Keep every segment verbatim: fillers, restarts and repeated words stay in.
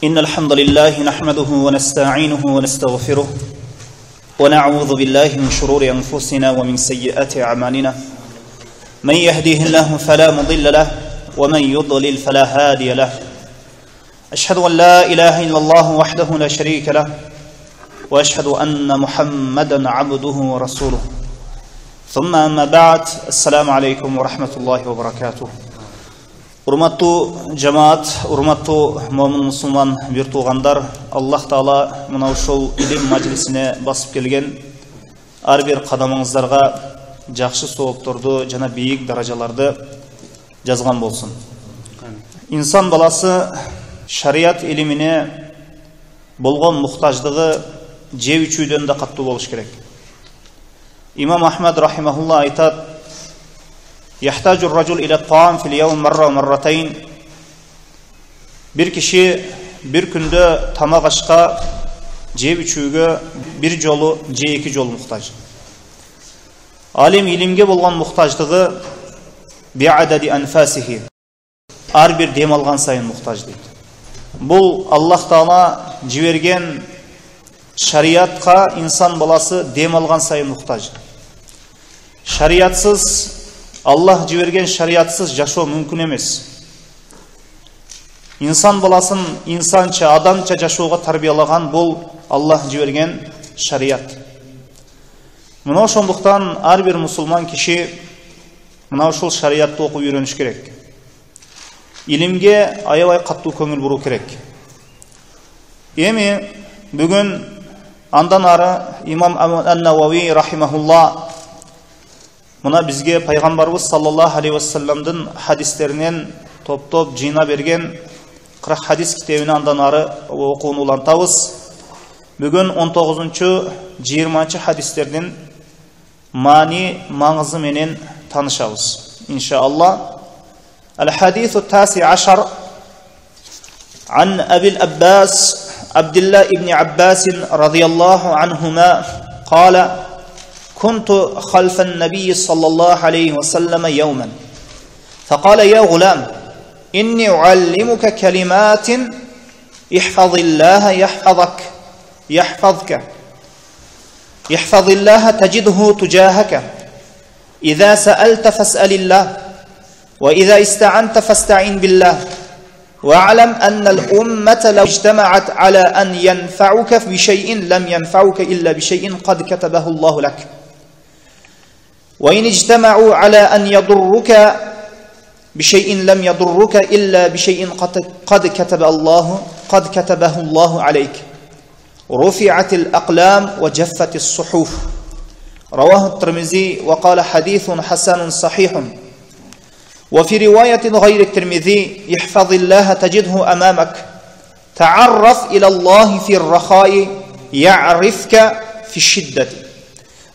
إن الحمد لله نحمده ونستعينه ونستغفره ونعوذ بالله من شرور أنفسنا ومن سيئات أعمالنا من يهديه الله فلا مضل له ومن يضلل فلا هادي له أشهد أن لا إله إلا الله وحده لا شريك له وأشهد أن محمدا عبده ورسوله ثم أما بعد السلام عليكم ورحمة الله وبركاته. Урматтуу жамаат, урматтуу момун мусулман бир туугандар, Аллах Таала мына ушул илим маҗлисине басып келген ар бир кадамыңыздарга жакшы соопторду жана бийик даражаларды жазган болсун. Инсан баласы шарият илимине болгон мухтаждыгы жеп ичүүдөн да каттуу болуш керек. Имам Ахмад рахимахулла айтат: يحتاج الرجل إلى الطعام في اليوم مرة ومرتين. Bir kişi bir күндө тамак ашка, жеп ичүүгө бир жолу же эки жолу муктаж. Алим илимге болгон муктаждыгы би'адади анфасихи. Ар бир дем алган сайын муктаж дейт. Бул Аллах Таала жиберген шариатка инсан баласы дем алган сайын муктаж. Шариатсыз, Аллах жиберген шариатсыз жашоо мүмкүн эмес. Инсан баласын инсанча, адамча жашоого тарбиялаган бул Аллах жиберген шариат. Мына ошондуктан ар бир мусулман киши мына ушул шариатты окуп үйрөнүш керек. Илимге аябай каттуу көңүл буруу керек. Эми бүгүн андан ары имам ан-Навави рахимахулла мына бизге пайгамбарыбыз саллаллаху алейхи вассаламдын хадистеринен топ-топ жыйна берген кырк хадис китебин андан ары окууну улантабыз. Бүгүн он тогузунчу жыйырманчы хадистердин маани маңызы менен таанышабыз. Иншааллах. Ал-хадису таси ашар ан Абил Аббас Абдулlah ibn Abbas radhiyallahu anhuma qala كنت خلف النبي صلى الله عليه وسلم يوما فقال يا غلام إني أعلمك كلمات احفظ الله يحفظك يحفظك يحفظ الله تجده تجاهك إذا سألت فاسأل الله وإذا استعنت فاستعن بالله واعلم أن الأمة لو اجتمعت على أن ينفعك بشيء لم ينفعك إلا بشيء قد كتبه الله لك وإن اجتمعوا على أن يضرك بشيء لم يضرك إلا بشيء قد كتب الله قد كتبه الله عليك رفعت الأقلام وجفت الصحف. رواه الترمذي وقال حديث حسن صحيح. وفي رواية غير الترمذي احفظ الله تجده أمامك تعرف إلى الله في الرخاء يعرفك في الشدة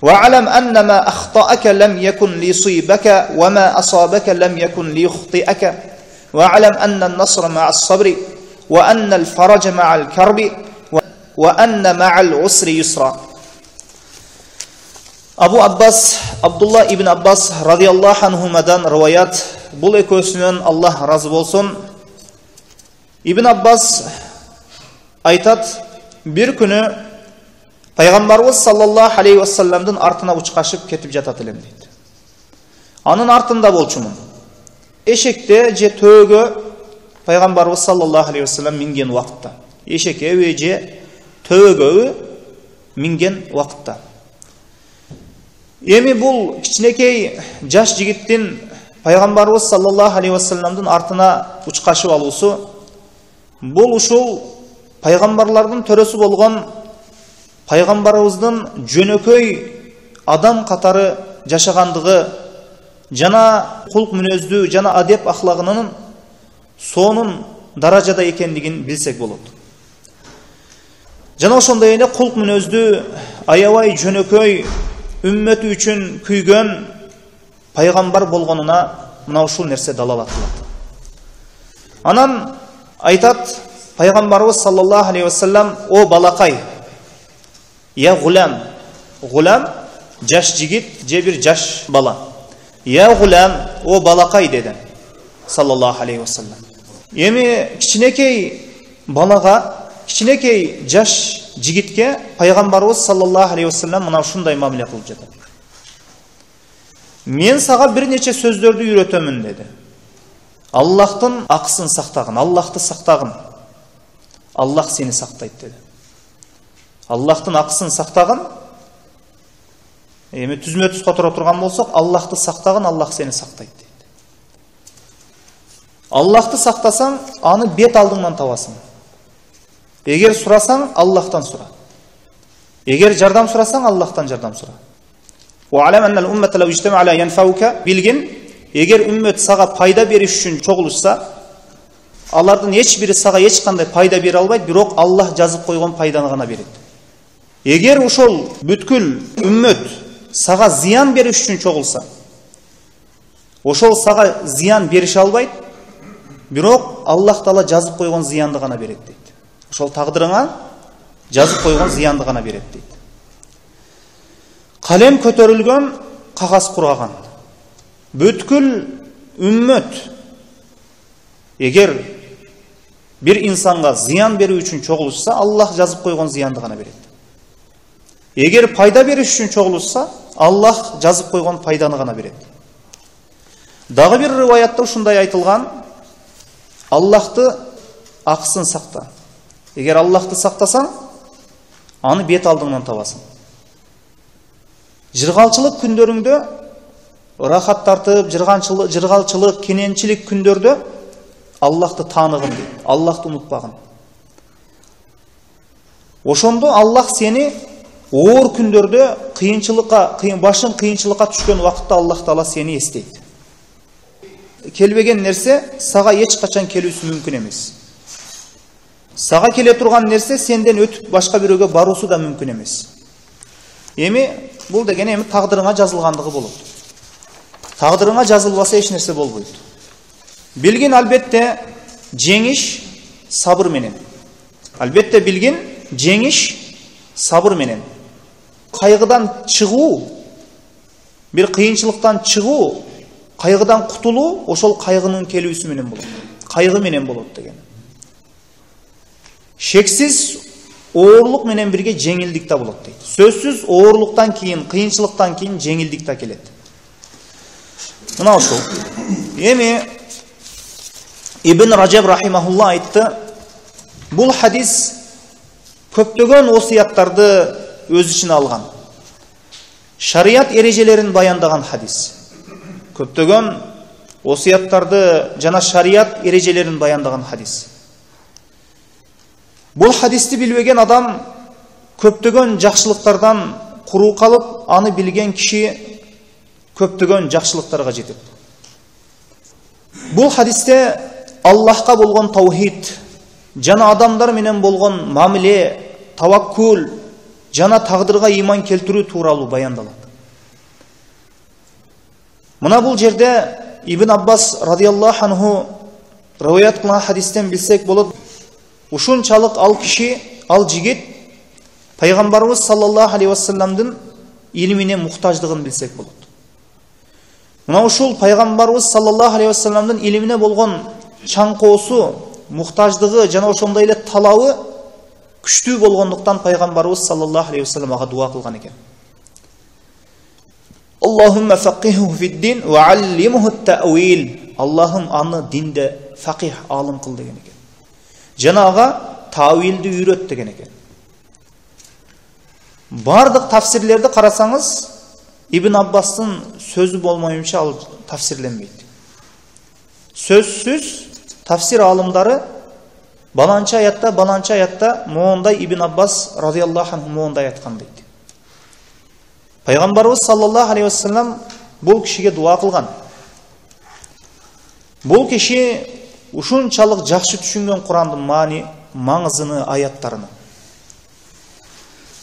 واعلم أن ما أخطأك لم يكن ليصيبك وما أصابك لم يكن ليخطئك واعلم أن النصر مع الصبر وأن الفرج مع الكرب وأن مع العسر يسرا. Абу Аббас Абдулла ибн Аббас радиаллаху анхумадан риваят. Бул экөөсүнөн Аллах разы болсун. Ибн Аббас айтат: бир күнү пайгамбарыбыз саллаллаху алейхи вассаламдын артына учкашып кетип жатат элем дейт. Анын артында болчумун. Эшекте же төөгө пайгамбарыбыз саллаллаху алейхи вассалам минген убакытта. Эшекеби же төөгөбү минген убакытта. Эми бул кичинекей жаш жигиттин пайгамбарыбыз саллаллаху алейхи вассаламдын артына учкашып алуусу бул ушул пайгамбарлардын төрөсү болгон пайгамбарыбыздын жөнөкөй адам катары жашагандыгы жана кулк мүнөздүү жана адеп ахлагынын сонун даражада экендигин билсек болот. Жана ошондой эле кулк мүнөздүү аябай жөнөкөй үммөтү үчүн күйгөн пайгамбар болгонуна мына ушул нерсе далалат кылат. Анан айтат пайгамбарыбыз саллаллаху алейхи вассалам: о балакай, я гулам. Гулам жаш жигит же бир жаш бала. Я гулам, о балакай деди саллаллаху алейхи вассалам. Эми кичинекей балага, кичинекей жаш жигитке пайгамбарыбыз саллаллаху алейхи вассалам мына ушундай мамиле кылып жатат. Мен сага бир нече сөздөрдү үйрөтөмүн деди. Аллахтын акысын сактагын, Аллахты сактагын. Аллах сени сактайт деди. Аллахтын акысын сактагын. Эми түзмө түз которо турган болсок, Аллахты сактагын, Аллах сени сактайт дейт. Аллахты сактасаң, аны бет алдыңдан табасың. Эгер сурасаң, Аллахтан сура. Эгер жардам сурасаң, Аллахтан жардам сура. Ва алам аннал уммата лау ижтама ала янфаука, билгин, эгер үммөт сага пайда бериш үчүн чогулушса, алардын эч бири сага эч кандай пайда бере албайт, бирок Аллах жазып койгон пайданы гана берет. Эгер ошол бүткүл үммөт сага зыян бериш үчүн чогулса, ошол сага зыян берише албайт, бирок Аллах Таала жазып койгон зыянды гана берет дейт. Ошол тагдырыңа жазып койгон зыянды гана берет дейт. Калем көтөрүлгөн, кагаз кураган. Бүткүл үммөт эгер бир инсанга зыян берүү үчүн чогулушса, Аллах жазып койгон зыянды гана берет. Эгер пайда бериш үчүн чогулушса, Аллах жазып койгон пайданы гана берет. Дагы бир риваятта ушундай айтылган: Аллахты акысын сакта. Эгер Аллахты сактасаң, аны бет алдыңдан табасың. Жыргалчылык күндөрүңдө, рахат тартып, жырганчылык, жыргалчылык, кененчилик күндөрдө Аллахты тааныгын дейт. Аллахты унутпагын. Ошондо Аллах сени оор күндөрдө, кыйынчылыкка, кыйын башың кыйынчылыкка түшкөн убакытта Аллах Таала сени эстейт. Келбеген нерсе сага эч качан келүүсү мүмкүн эмес. Сага келе турган нерсе сенден өтүп башка бирөөгө баруусу да мүмкүн эмес. Эми бул деген эми тагдырыңа жазылгандыгы болот. Тагдырыңа жазылбаса эч нерсе болбойт. Билгин, албетте жеңиш сабыр менен. Албетте билгин, жеңиш сабыр менен. Кайгыдан чыгуу, бир кыйынчылыктан чыгуу, кайгыдан кутулуу ошол кайгынын келүүсү менен болот. Кайгы менен болот деген. Шексиз оорлук менен бирге жеңилдик да болот дейт. Сөзсүз оорлуктан кийин, кыйынчылыктан кийин жеңилдик да келет. Мына ошол. Эми Ибн Раджаб рахимахулла айтты, бул хадис көптөгөн осуяттарды өз ичине алган. Шарият эрежелерин баяндаган хадис. Көптөгөн осуяттарды жана шарият эрежелерин баяндаган хадис. Бул хадисти билбеген адам көптөгөн жакшылыктардан куруу калып, аны билген киши көптөгөн жакшылыктарга жетет. Бул хадисте Аллахка болгон таухид, жана адамдар менен болгон мамиле, таваккул, жана тагдырга иман келтирүү тууралуу баяндалат. Мына бул жерде Ибн Аббас радиаллаху анху риваят кылган хадистен билсек болот. Ушунчалык ал киши, ал жигит пайгамбарыбыз саллаллаху алейхи вассаламдын илимине муктаждыгын билсек болот. Мына ушул пайгамбарыбыз саллаллаху алейхи вассаламдын илимине болгон чаңкоосу, муктаждыгы жана ошондой эле талабы күчтүү болгондуктан пайгамбарыбыз саллаллаху алейхи вассалам ага дуа кылган экен. Аллахумма фақиху фид-дин ва аллимху ат-таъвил. Аллахым аны динде фақих, алым кыл деген экен. Жана ага тавилди үйрөт деген экен. Бардык тафсирлерди карасаңыз, Ибн Аббастын сөзү болмоюнча ал тафсирленбейт. Сөзсүз тафсир алымдары баланча аятта, баланча аятта моондай Ибн Аббас радиаллаху анху моондай айткан дейт. Пайгамбарыбыз саллаллаху алейхи вассалам бул кишиге дуа кылган. Бул киши ушунчалык жакшы түшүнгөн Курандын маани, маңызыны, аяттарыны.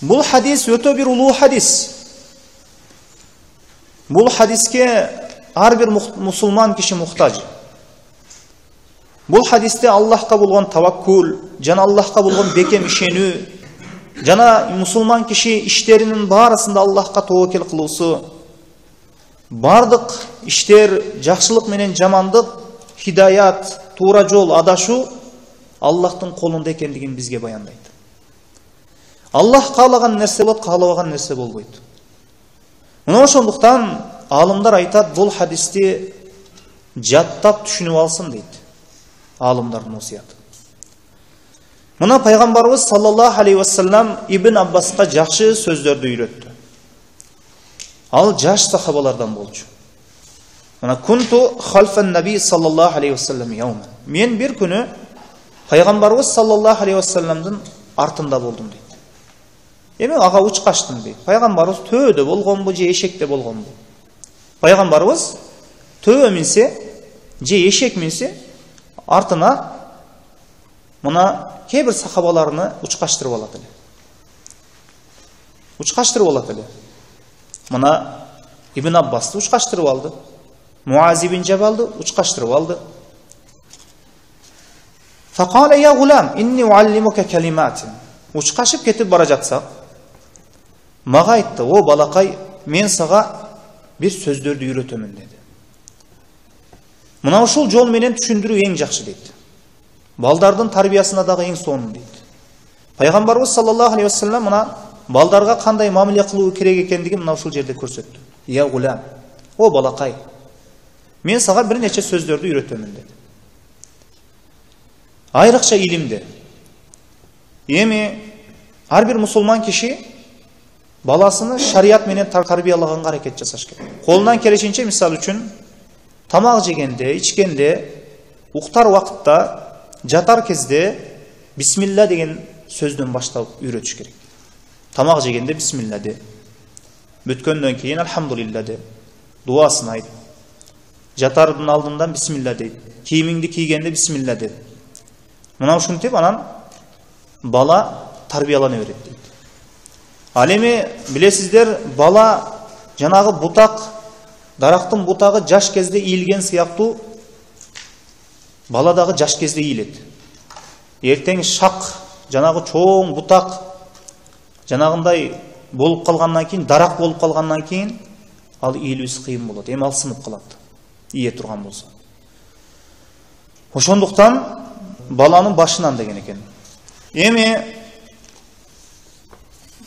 Бул хадис өтө бир улуу хадис. Бул хадиске ар бир мусулман киши муктаж. Бул хадисте Аллахка болгон таваккул, жана Аллахка болгон бекем ишенүү, жана мусулман киши иштеринин баарысында Аллахка тобокел кылуусу, бардык иштер, жакшылык менен жамандык, хидаят, туура жол, адашуу Аллахтын колунда экендигин бизге баяндайт. Аллах каалаган нерсе болот, каалабаган нерсе болбойт. Мына ошондуктан алымдар айтат, бул хадисти жаттап түшүнүп алсын дейт. Алымдардын осуяты. Мына пайгамбарыбыз саллаллаху алейхи вассалам Ибн Аббаска жакшы сөздөрдү үйрөттү. Ал жаш сахабалардан болчу. Мына кунту халфан наби саллаллаху алейхи вассалам яуман. Мен бир күнү пайгамбарыбыз саллаллаху алейхи вассаламдын артында болдум дейт. Эми ага учкаштым дейт. Пайгамбарыбыз төөдө болгонбу же эшекте болгонбу? Пайгамбарыбыз төө минсе же эшек минсе артына мына кээ бир сахабаларыны учкаштырып алат эле. Учкаштырып алат эле. Мына Ибн Аббасты учкаштырып алды. Муаз ибн Жабалды учкаштырып алды. Факала я гулам инни уаллимука калиматин. Учкашып кетип бара жатсак, мага айтты: "О балакай, мен сага бир сөздөрдү үйрөтөмүн" деди. Мына ушул жол менен түшүндүрүү эң жакшы дейт. Балдардын тарбиясына дагы эң сонун дейт. Пайгамбарыбыз саллаллаху алейхи вассалам мына балдарга кандай мамиле кылуу керек экендигин мына ушул жерде көрсөттү. Я гулам, о балакай, мен сага бир нече сөздөрдү үйрөтөмүн деди. Айрыкча илимди. Эми ар бир мусулман киши баласыны шарият менен тарбиялаганга аракет жасаш керек. Колунан келишинче, мисал үчүн, тамак жегенде, ичкенде, уктар убакытта, жатар кезде бисмилла деген сөздөн баштап үйрөтүш керек. Тамак жегенде бисмилла де. Бүткөндөн кийин алхамдулилла де. Дуасын айт. Жатардын алдынан бисмилла дейт. Кийимиңди кийгенде бисмилла де. Мына ушинтип анан бала тарбиялана берет дейт. Ал эми билесиздер, бала жанагы бутак, дарактын бутагы жаш кезде ийилген сыяктуу бала дагы жаш кезде ийилет. Эртең шак, жанагы чоң бутак жанагындай болуп калгандан кийин, дарак болуп калгандан кийин ал ийилүүсү кыйын болот. Эми ал сынып калат, ийе турган болсо. Ошондуктан баланын башынан деген экен. Эми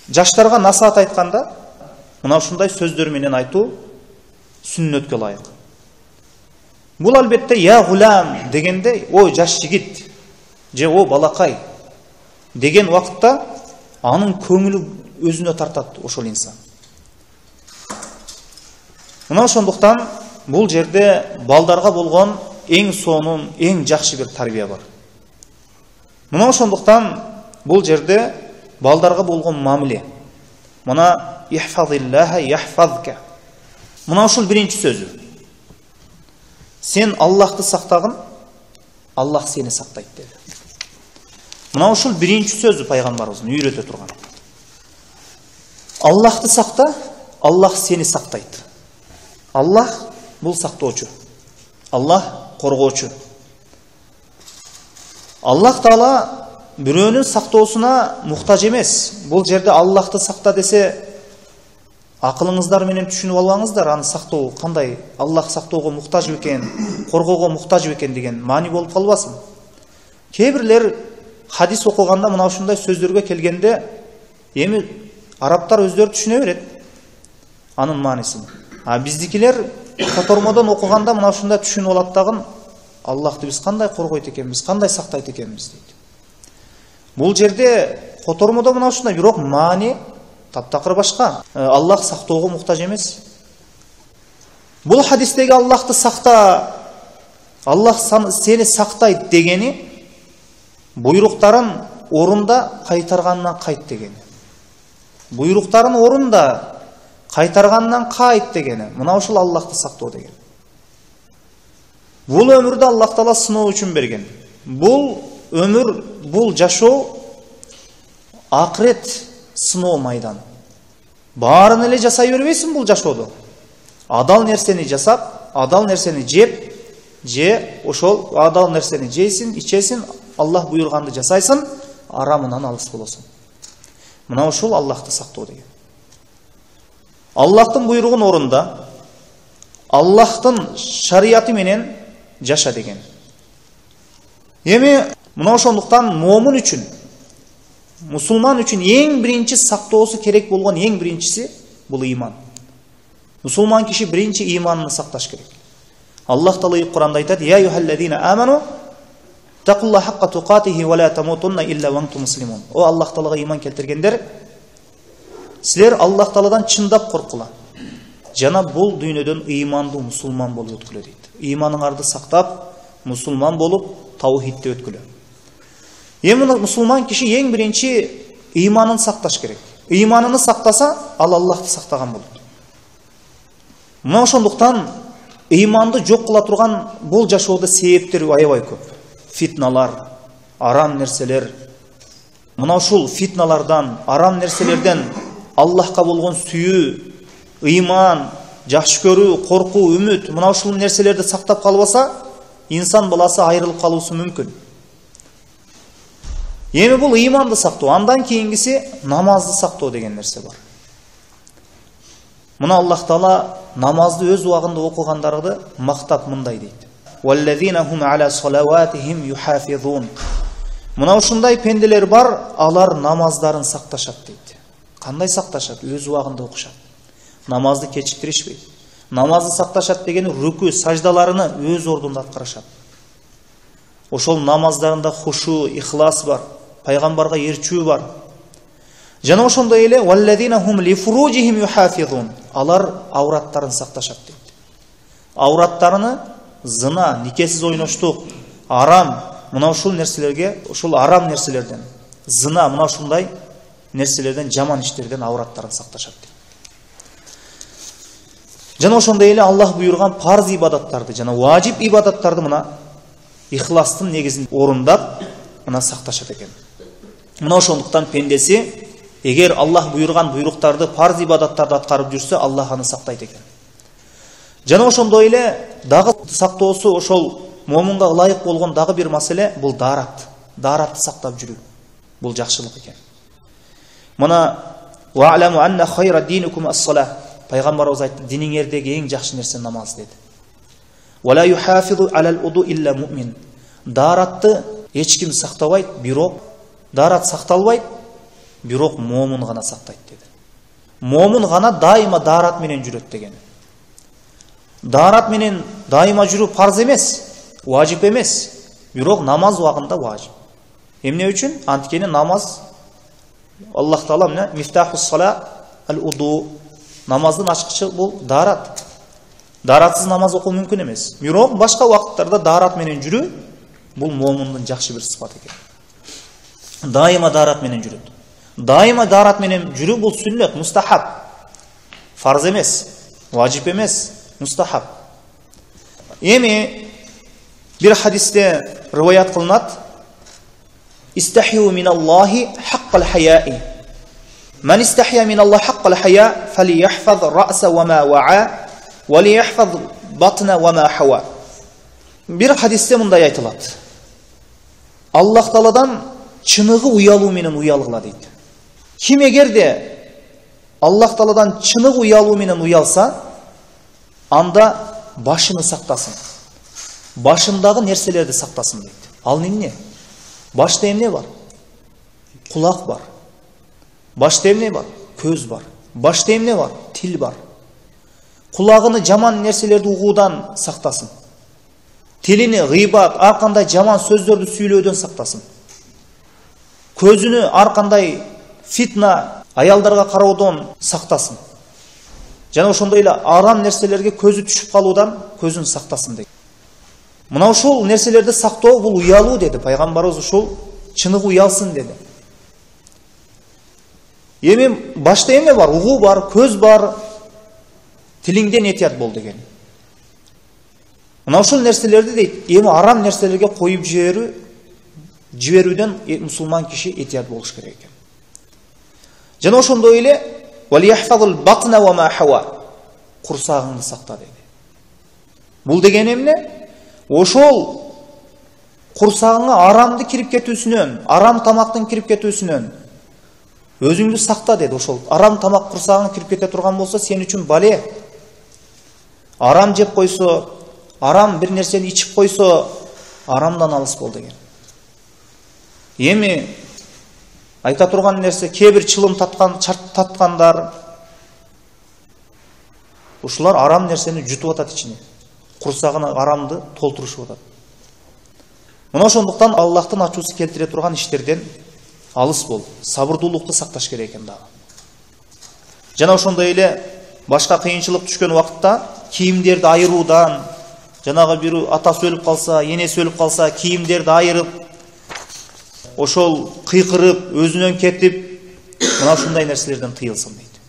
жаштарга насаат айтканда мына ушундай сөздөр менен айтуу сүннөткө ылайык. Бул албетте я гулам дегенде, о жаш жигит же о балакай деген убакытта анын көңүлү өзүнө тартат ошол инсан. Мына ошондуктан бул жерде балдарга болгон эң сонун, эң жакшы бир тарбия бар. Мына ошондуктан бул жерде балдарга болгон мамиле. Мына ихфазиллаха яхфазка. Мына ушул биринчи сөзү. Сен Аллахты сактагын, Аллах сени сактайт деди. Мына ушул биринчи сөзү пайгамбарыбыздын үйрөтө турган. Аллахты сакта, Аллах сени сактайт. Аллах бул сактоочу. Аллах коргоочу. Аллах Таала бирөөнүн сактоосуна муктаж эмес. Бул жерде Аллахты сакта десе, акылыңыздар менен түшүнүп албаңыздар, аны сактоо кандай, Аллах сактоого муктаж бекен, коргоого муктаж бекен деген маани болуп калбасын. Кээ бирлер хадис окуганда мына ушундай сөздөргө келгенде, эми арабтар өздөрү түшүнө берет анын маанисин. А биздикилер котормодон окуганда мына ушундай түшүнүп алат дагы, Аллахты биз кандай коргойт экенбиз, кандай сактайт экенбиз дейт. Бул жерде котормодо мына ушундай, бирок маани таптакыр башка. Аллах сактоого муктаж эмес. Бул хадистеги Аллахты сакта, Аллах сени сактайт дегени буйруктарын орунда кайтаргандан кайт дегени. Буйруктарын орунда кайтаргандан кайт дегени. Мына ушул Аллахты сактоо деген. Бул өмүрдө Аллах Таала сыноо үчүн берген. Бул өмүр, бул жашоо акырет сыноо майданы. Баарын эле жасай бербейсиң бул жашоодо. Адал нерсени жасап, адал нерсени жеп, же ошол адал нерсени жейсиң, ичесиң, Аллах буйруганды жасайсың, арамынан алыс болосуң. Мына ушул Аллахты сактоо деген. Аллахтын буйругун орунда, Аллахтын шариаты менен жаша деген. Эми Мына ошондуктан момун үчүн, мусулман үчүн эң биринчи сактоосу керек болгон эң биринчиси бул иман. Мусулман киши биринчи иманын сакташ керек. Аллах Таала Кур'анда айтат: "Я юхаллазина аману тaqullahu haqqa tuqatihi wa la tamutunna illa wa antum muslimun." О Аллах Таалага иман келтиргендер, силер Аллах Тааладан чындап коркула. Жана бул дүйнөдөн имандуу мусулман болуп өткүлө дейт. Иманыңарды сактап, мусулман болуп, таухидте өткүлө. Эми мусулман киши эң биринчи иманын сакташ керек. Иманын сактаса, ал Аллахты сактаган болот. Мына ошондуктан иманды жок кыла турган бул жашоодо себептер аябай көп. Фитналар, арам нерселер. Мына ушул фитналардан, арам нерселерден Аллахка болгон сүйүү, иман, жакшы көрүү, коркуу, үмүт, мына ушул нерселерди сактап калбаса, инсан баласы айрылып калуусу мүмкүн. Эми бул иманды сактоо, андан кийингиси намазды сактоо деген нерсе бар. Мына Аллах Таала намазды өз убагында окугандарды мактап мындай дейт: "Валлазина хум ала салаватихим юхафизун." Мына ушундай пенделер бар, алар намаздарын сакташат дейт. Кандай сакташат? Өз убагында окушат. Намазды кечиктиришпейт. Намазды сакташат дегени рүкү, саждаларыны өз ордунда аткарышат. Ошол намаздарында хушу, ихлас бар, пайгамбарга эрчүү бар. Жана ошондой эле валлазина хум ли фуружихим юхафизун. Алар авраттарын сакташат дейт. Авраттарыны зына, никесиз ойноштук, арам, мына ушул нерселерге, ушул арам нерселерден, зына, мына ушундай нерселерден, жаман иштерден авраттарын сакташат дейт. Жана ошондой эле Аллах буйрган парз ибадаттарды жана важип ибадаттарды мына ихластын негизинде орундап, мына сакташат экен. Мына ошондуктан пендеси эгер Аллах буйрган буйруктарды, парз ибадаттарды аткарып жүрсө, Аллах аны сактайт экен. Жана ошондой эле дагы сактоосу ошол момунга ылайык болгон дагы бир маселе бул даарат. Дааратты сактап жүрүү. Бул жакшылык экен. Мына вa'lamu anna khayra dinukum as-salah. Пайгамбарыбыз айтты, диниңердеги эң жакшы нерсе намаз деди. Wala yuhafizu ala al-wudu illa mu'min. Дааратты эч ким сактабайт, бирок даарат сакталбайт, бирок момун гана сактайт деди. Момун гана дайыма даарат менен жүрөт деген. Даарат менен дайыма жүрүү парз эмес, важип эмес, бирок намаз убагында важип. Эмне үчүн? Анткени намаз Аллах Таала менен мифтахус сала ал-wudu. Намаздын ачкычы бул даарат. Дааратсыз намаз окуу мүмкүн эмес. Бирок башка убакыттарда даарат менен жүрүү бул момундун жакшы бир сыпаты экен. Дайыма даарат менен жүрөт. Дайыма даарат менен жүрүү бул сүннет, мустахаб. Фарз эмес, важип эмес, мустахаб. Эми бир хадисте риваят кылынат: "Истахию миналлахи хаккал хаяи. Ман истахия миналлахи хаккал хая фалияхфаз раса ва ма ваа ва лияхфаз батна ва ма хава." Бир хадисте мындай айтылат: Аллах Тааладан чыныгы уялуу менен уялгыла дейт. Ким эгерде Аллах Тааладан чыныгы уялуу менен уялса, анда башыны сактасын. Башындагы нерселерди сактасын дейт. Ал эмне? Башта эмне бар? Кулак бар. Башта эмне бар? Көз бар. Башта эмне бар? Тил бар. Кулагыны жаман нерселерди угуудан сактасын. Тилини гыйбат, ар кандай жаман сөздөрдү сүйлөөдөн сактасын. Көзүнү ар кандай фитна, аялдарга кароодон сактасын. Жана ошондой эле арам нерселерге көзү түшүп калуудан көзүн сактасын дейт. Мына ушул нерселерди сактоо бул уялуу деди. Пайгамбарыбыз ушул чыныгы уялсын деди. Эми башта эмне бар? Угуу бар, көз бар. Тилиңден этият бол деген. Мына ушул нерселерди дейт, эми арам нерселерге коюп жиберүү, жиберүүдөн мусулман киши этият болуш керек экен. Жана ошондой эле валияхфазул батна ва ма хава. Курсагыңды сакта деди. Бул деген эмне? Ошол курсагыңа арамды кирип кетүүсүнөн, арам тамактын кирип кетүүсүнөн өзүңдү сакта деди. Ошол арам тамак курсагыңа кирип кете турган болсо, сен үчүн бале. Арам жеп койсо, арам бир нерсени ичип койсо, арамдан алыс бол деген. Эми айта турган нерсе, кээ бир чылым таткан, чарт таткандар ушулар арам нерсени жутуп атат ичине. Курсагына арамды толтурушуп атат. Мына ошондуктан Аллахтын ачуусу келтире турган иштерден алыс бол, сабырдуулукту сакташ керек экен дагы. Жана ошондой эле башка кыйынчылык түшкөн убакытта кийимдерди айыруудан, жанагы бир атасы өлүп калса, энеси өлүп калса, кийимдерди айырып, ошол кыйкырып, өзүнөн кетип, мына ушундай нерселерден тыйылсын дейт.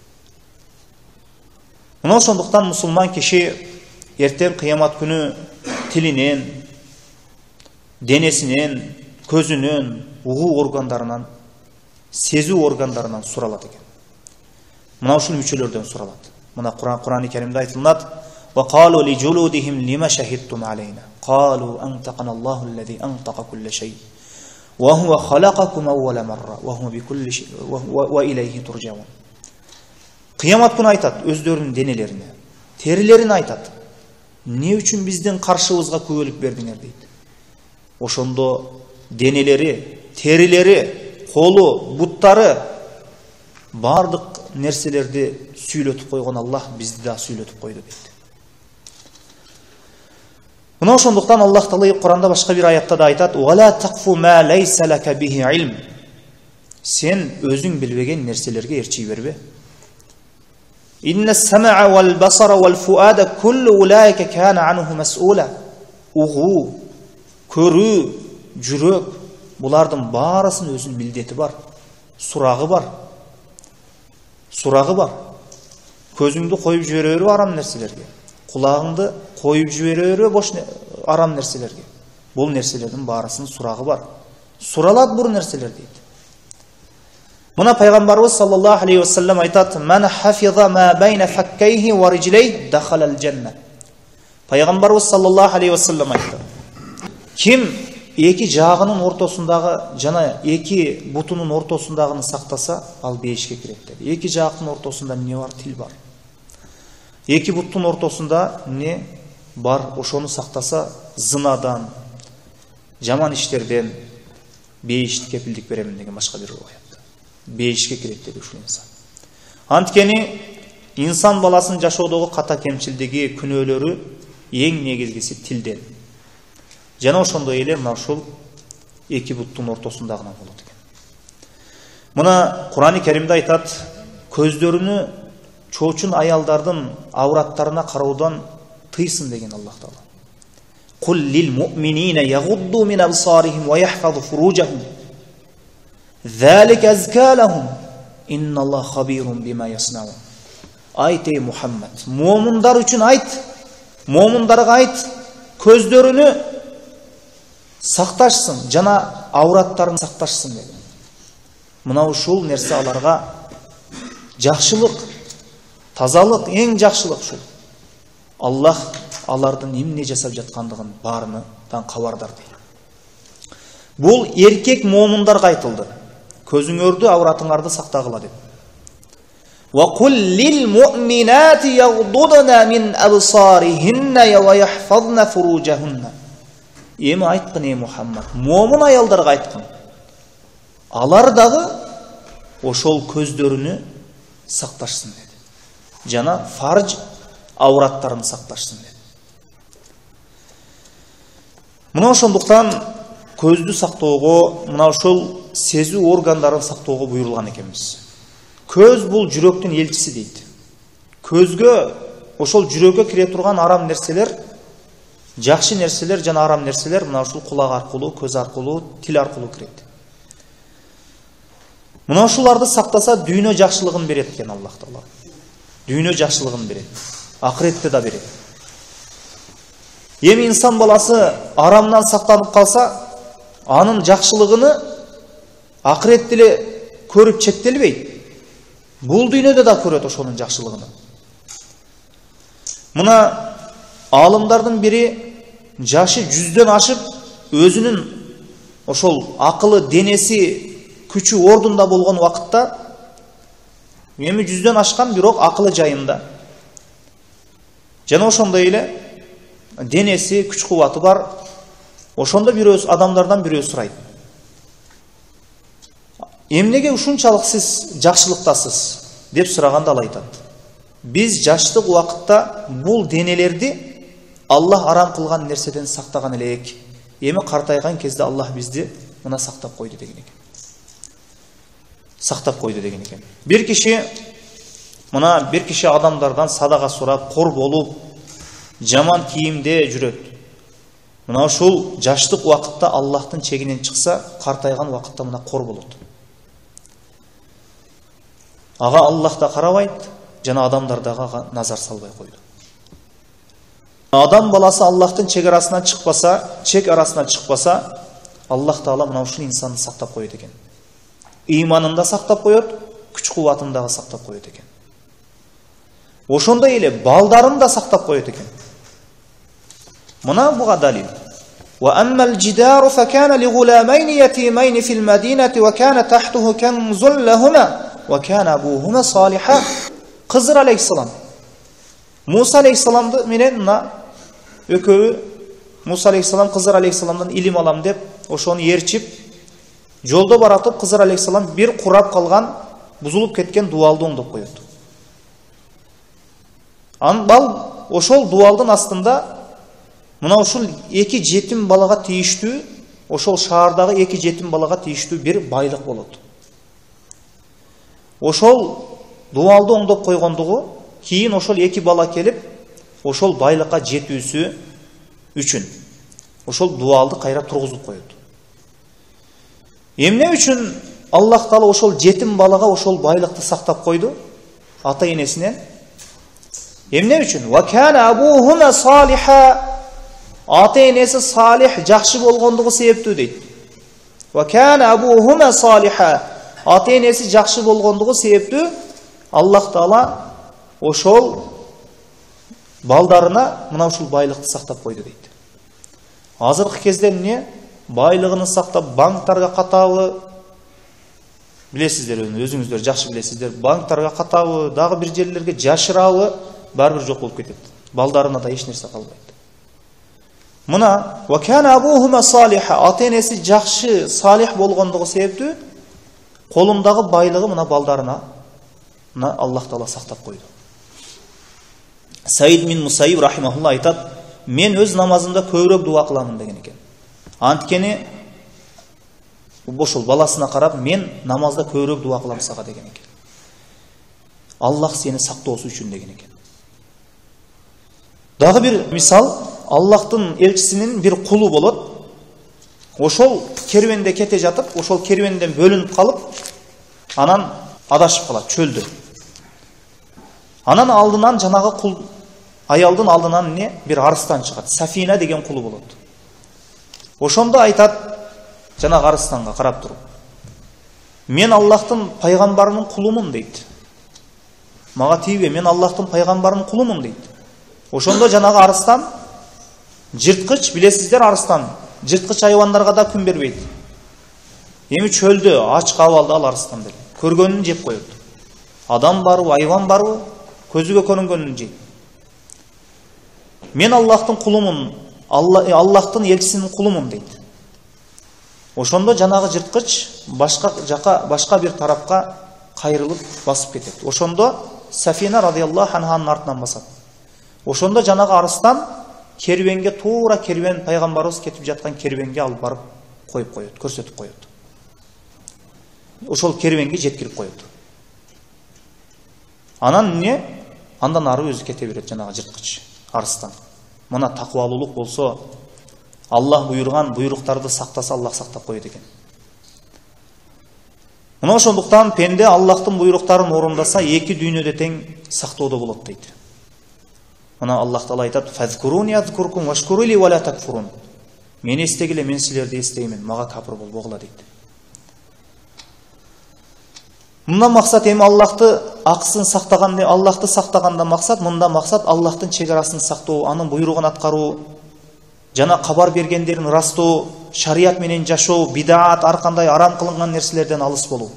Мына ошондуктан мусулман киши эртең кыямат күнү тилинен, денесинен, көзүнөн, угуу органдарынан, сезүү органдарынан суралат экен. Мына ушул мүчөлөрдөн суралат. Мына Кур'ан-ы Каримде айтылат: "Ва қалу ли жулудихим лима шахидтум алейна? Қалу антақана Аллаху аллази антаqa кулла шей. Ва хува халақакум аувала марра, ва хува бикулли шей, ва илейхи туржаун." Кыямат күнү айтат өздөрүнүн денелерине, терилерине айтат: "Не үчүн биздин каршыбызга күбөлүк бердиңер?" дейт. Ошондо денелери, терилери, колу, буттары бардык нерселерди сүйлөтүп койгон Аллах бизди да сүйлөтүп койду дейт. Мына ошондуктан Аллах Таала Кур'анда башка бир аятта да айтат: "Вала тaqfu ma laysa laka bihi ilm." Сен өзүң билбеген нерселерге ээрчий бербе. "Инна as-sam'a wal basara wal fu'ada kullu ulaika kana anhu mas'ula." Угуу, көрүү, жүрөк, булардын баарысынын өзүнүн милдети бар, сурагы бар. Сурагы бар. Көзүңдү коюп жибере бербе арам нерселерге. Кулагыңды коюп жибере бербе бош арам нерселерге. Бул нерселердин баарысынын сурагы бар. Суралат бул нерселер дейт. Мына пайгамбарыбыз саллаллаху алейхи ва саллям айтат: "Ман хафиза ма байна факкайхи ва риджлайхи дахалал жанна." Пайгамбарыбыз саллаллаху алейхи ва саллям айтты: Ким эки жагынын ортосундагы жана эки бутунун ортосундагыны сактаса, ал бейишке кирет деди. Эки жактын ортосунда эмне бар? Тил бар. Эки буттун ортосунда эмне бар? Ошону сактаса, зынадан, жаман иштерден бейишти кепилдик беремин деген башка бир аятта. Бейишке кирет деди ушул инсан. Анткени инсан баласынын жашоодогу ката кемчилдиги, күнөөлөрү эң негизгиси тилден. Жана ошондой эле мына ушул эки буттун ортосундагынан болот экен. Мына Кур'ан-ы Каримде айтат: "Көздөрүнү чоочун аялдардын авраттарына кароодан тыйсын" деген Аллах Таала. "Кул лил муъминина ягудду мин абсарихим ва яхфазу фуружахум. Залика азка лахум. Инналлаха хабирун бима яснаун." Айт ey Мухаммад, муъминдар үчүн айт, муъминдарга айт, көздөрүнү сакташсын, жана авраттарын сакташсын dedi. Мына ушул нерсе аларга жакшылык, тазалык, эң жакшылык ушул. Аллах алардын эмне жасап жаткандыгын баарынан кабардар дейт. Бул эркек муъминдарга айтылды. Көзүңөрдү, авратыңарды сактагыла деп. Ва кул лил муъминати ягдудна мин абсарихинна ва яхфазна фуружахунна. Эми айткын ey Мухаммад, муъмин аялдарга айткын. Алар дагы ошол көздөрүнү сакташсын деди. Жана фарж авраттарын сакташсын деди. Мына ошондуктан көздү сактоого, мына ошол сезүү органдарын сактоого буйрулган экенбиз. Көз бул жүрөктүн элчиси дейт. Көзгө, ошол жүрөккө кире турган арам нерселер, жакшы нерселер жана арам нерселер мына ушул кулак аркылуу, көз аркылуу, тил аркылуу кирет. Мына ушуларды сактаса дүйнө жакшылыгын берет экен Аллах Таала. Дүйнө жакшылыгын берет. Акыретте да берет. Эми инсан баласы арамдан сактанып калса, анын жакшылыгыны акыретте эле көрүп чектелбейт. Бул дүйнөдө да көрөт ошонун жакшылыгын. Мына алымдардын бири жашы жүздөн ашып, өзүнүн ошол акылы, денеси, күчү ордунда болгон убакытта, эми жүздөн ашкан, бирок акылы жайында. Жана ошондой эле денеси, күч кубаты бар. Ошондо бирөөсү адамдардан бирөө сурайт: эмнеге ушунчалык сиз жакшылыктасыз деп сураганда ал айтат: биз жаштык убакытта бул денелерди Аллах арам кылган нерседен сактаган элек. Эми картайган кезде Аллах бизди мына сактап койду деген экен. Сактап койду деген экен. Бир киши мына бир киши адамдардан садага сурап, кор болуп, жаман кийимде жүрөт. Мына ушул жаштык убакытта Аллахтын чегинен чыкса, картайган убакытта мына кор болот. Ага Аллах да карабайт, жана адамдар дагы назар салбай койду. Адам баласы Аллахтын чек арасынан чыкпаса, чек арасынан чыкпаса, Аллах Таала мына ушул инсанды сактап коет экен. Ыйманын да сактап коет, күч-кубатын дагы сактап коет экен. Ошондой эле балдарын да сактап коет экен. Мына буга далил. Wa amma al-jidaru fa kana li ghulamayn yatimayn fi al-madinati wa kana tahtahu kanzun lahumā wa kana abuhuma salihan. Кызыр алейхиссалам Муса алейхиссаламды менен мына экөө Муса алейхиссалам Кызыр алейхиссаламдан илим алам деп ошону ээрчип жолдо баратып Кызыр алейхиссалам бир курап калган, бузулуп кеткен дуалды оңдоп коет. Анбал ошол дуалдын астында мына ушул эки жетим балага тийиштүү, ошол шаардагы эки жетим балага тийиштүү бир байлык болот. Ошол дуалды оңдоп койгондугу кийин ошол эки бала келип, ошол байлыкка жетүүсү үчүн ошол дуалды кайра тургузуп коет. Эмне үчүн Аллах Таала ошол жетим балага ошол байлыкты сактап койду? Ата энесинен. Эмне үчүн? Ва кана абухума салиха. Ата энеси салих, жакшы болгондугу себептүү дейт. Ва кана абухума салиха. Ата энеси жакшы болгондугу себептүү Аллах Таала ошол балдарына мына ушул байлыкты сактап койду дейт. Азыркы кезде эмне? Байлыгын сактап банктарга катабы, билесиздер, өзүңүздөр жакшы билесиздер, банктарга катабы, дагы бир жерлерге жашырабы, баары бир жок болуп кетет. Балдарына да эч нерсе калбайт. Мына ва кана абухума салиха, ата энеси жакшы, салих болгондугу себептүү колундагы байлыгы мына балдарына мына Аллах Таала сактап койду. Саид мин Мусайиб рахимахулла айтат: мен өз намазымда көбүрөөк дуа кыламын деген экен. Анткени ошол баласына карап, мен намазда көбүрөөк дуа кылам сага деген экен. Аллах сени сактоосу үчүн деген экен. Дагы бир мисал, Аллахтын элчисинин бир кулу болот. Ошол керуенде кете жатып, ошол керуенден бөлүнүп калып, анан адашып калат чөлдө. Анан алдынан жанагы кул аялдын алдынан не бир арыстан чыгат. Сафина деген кулу болот. Ошондо айтат жанагы арыстанга карап туруп: мен Аллахтын пайгамбарынын кулумун дейт. Мага тийбе, мен Аллахтын пайгамбарынын кулумун дейт. Ошондо жанагы арыстан, жырткыч, билесиздер, арыстан жырткыч айвандарга да күн бербейт. Эми чөлдө ач кабалды ал арыстан деле. Көргөнүн жеп коет. Адам барбы, айван барбы, көзүгө көрүнгөнүн жейт. Мен Аллахтын кулумун, Аллахтын элчисинин кулумун дейт. Ошондо жанагы жырткыч башка жака, башка бир тарапка кайрылып басып кетет. Ошондо Сафина радиаллаху анханын артынан басат. Ошондо жанагы арыстан керуенге, туура керуен, пайгамбарыбыз кетип жаткан керуенге алып барып коюп коет, көрсөтүп коет. Ошол керуенге жеткирип коет. Анан не? Андан ары өзү кете берет жанагы жырткыч арыстан. Мына такыбалуулук болсо, Аллах буйруган буйруктарды сактаса, Аллах сактап коет экен. Мына ошондуктан пенде Аллахтын буйруктарын орундаса, эки дүйнөдө тең сактоодо болот дейт. Мына Аллах Таала айтат: "Фазкуруни азкуркум вашкурули ва ла такфурун." Мени эстегиле, мен силерди эстеймин, мага капыр болбогула дейт. Мында максат эми Аллахты акысын сактаган, Аллахты сактаганда максат, мында максат Аллахтын чек арасын сактоо, анын буйругун аткаруу, жана кабар бергендерин ырастоо, шарият менен жашоо, бидаат, ар кандай арам кылынган нерселерден алыс болуу.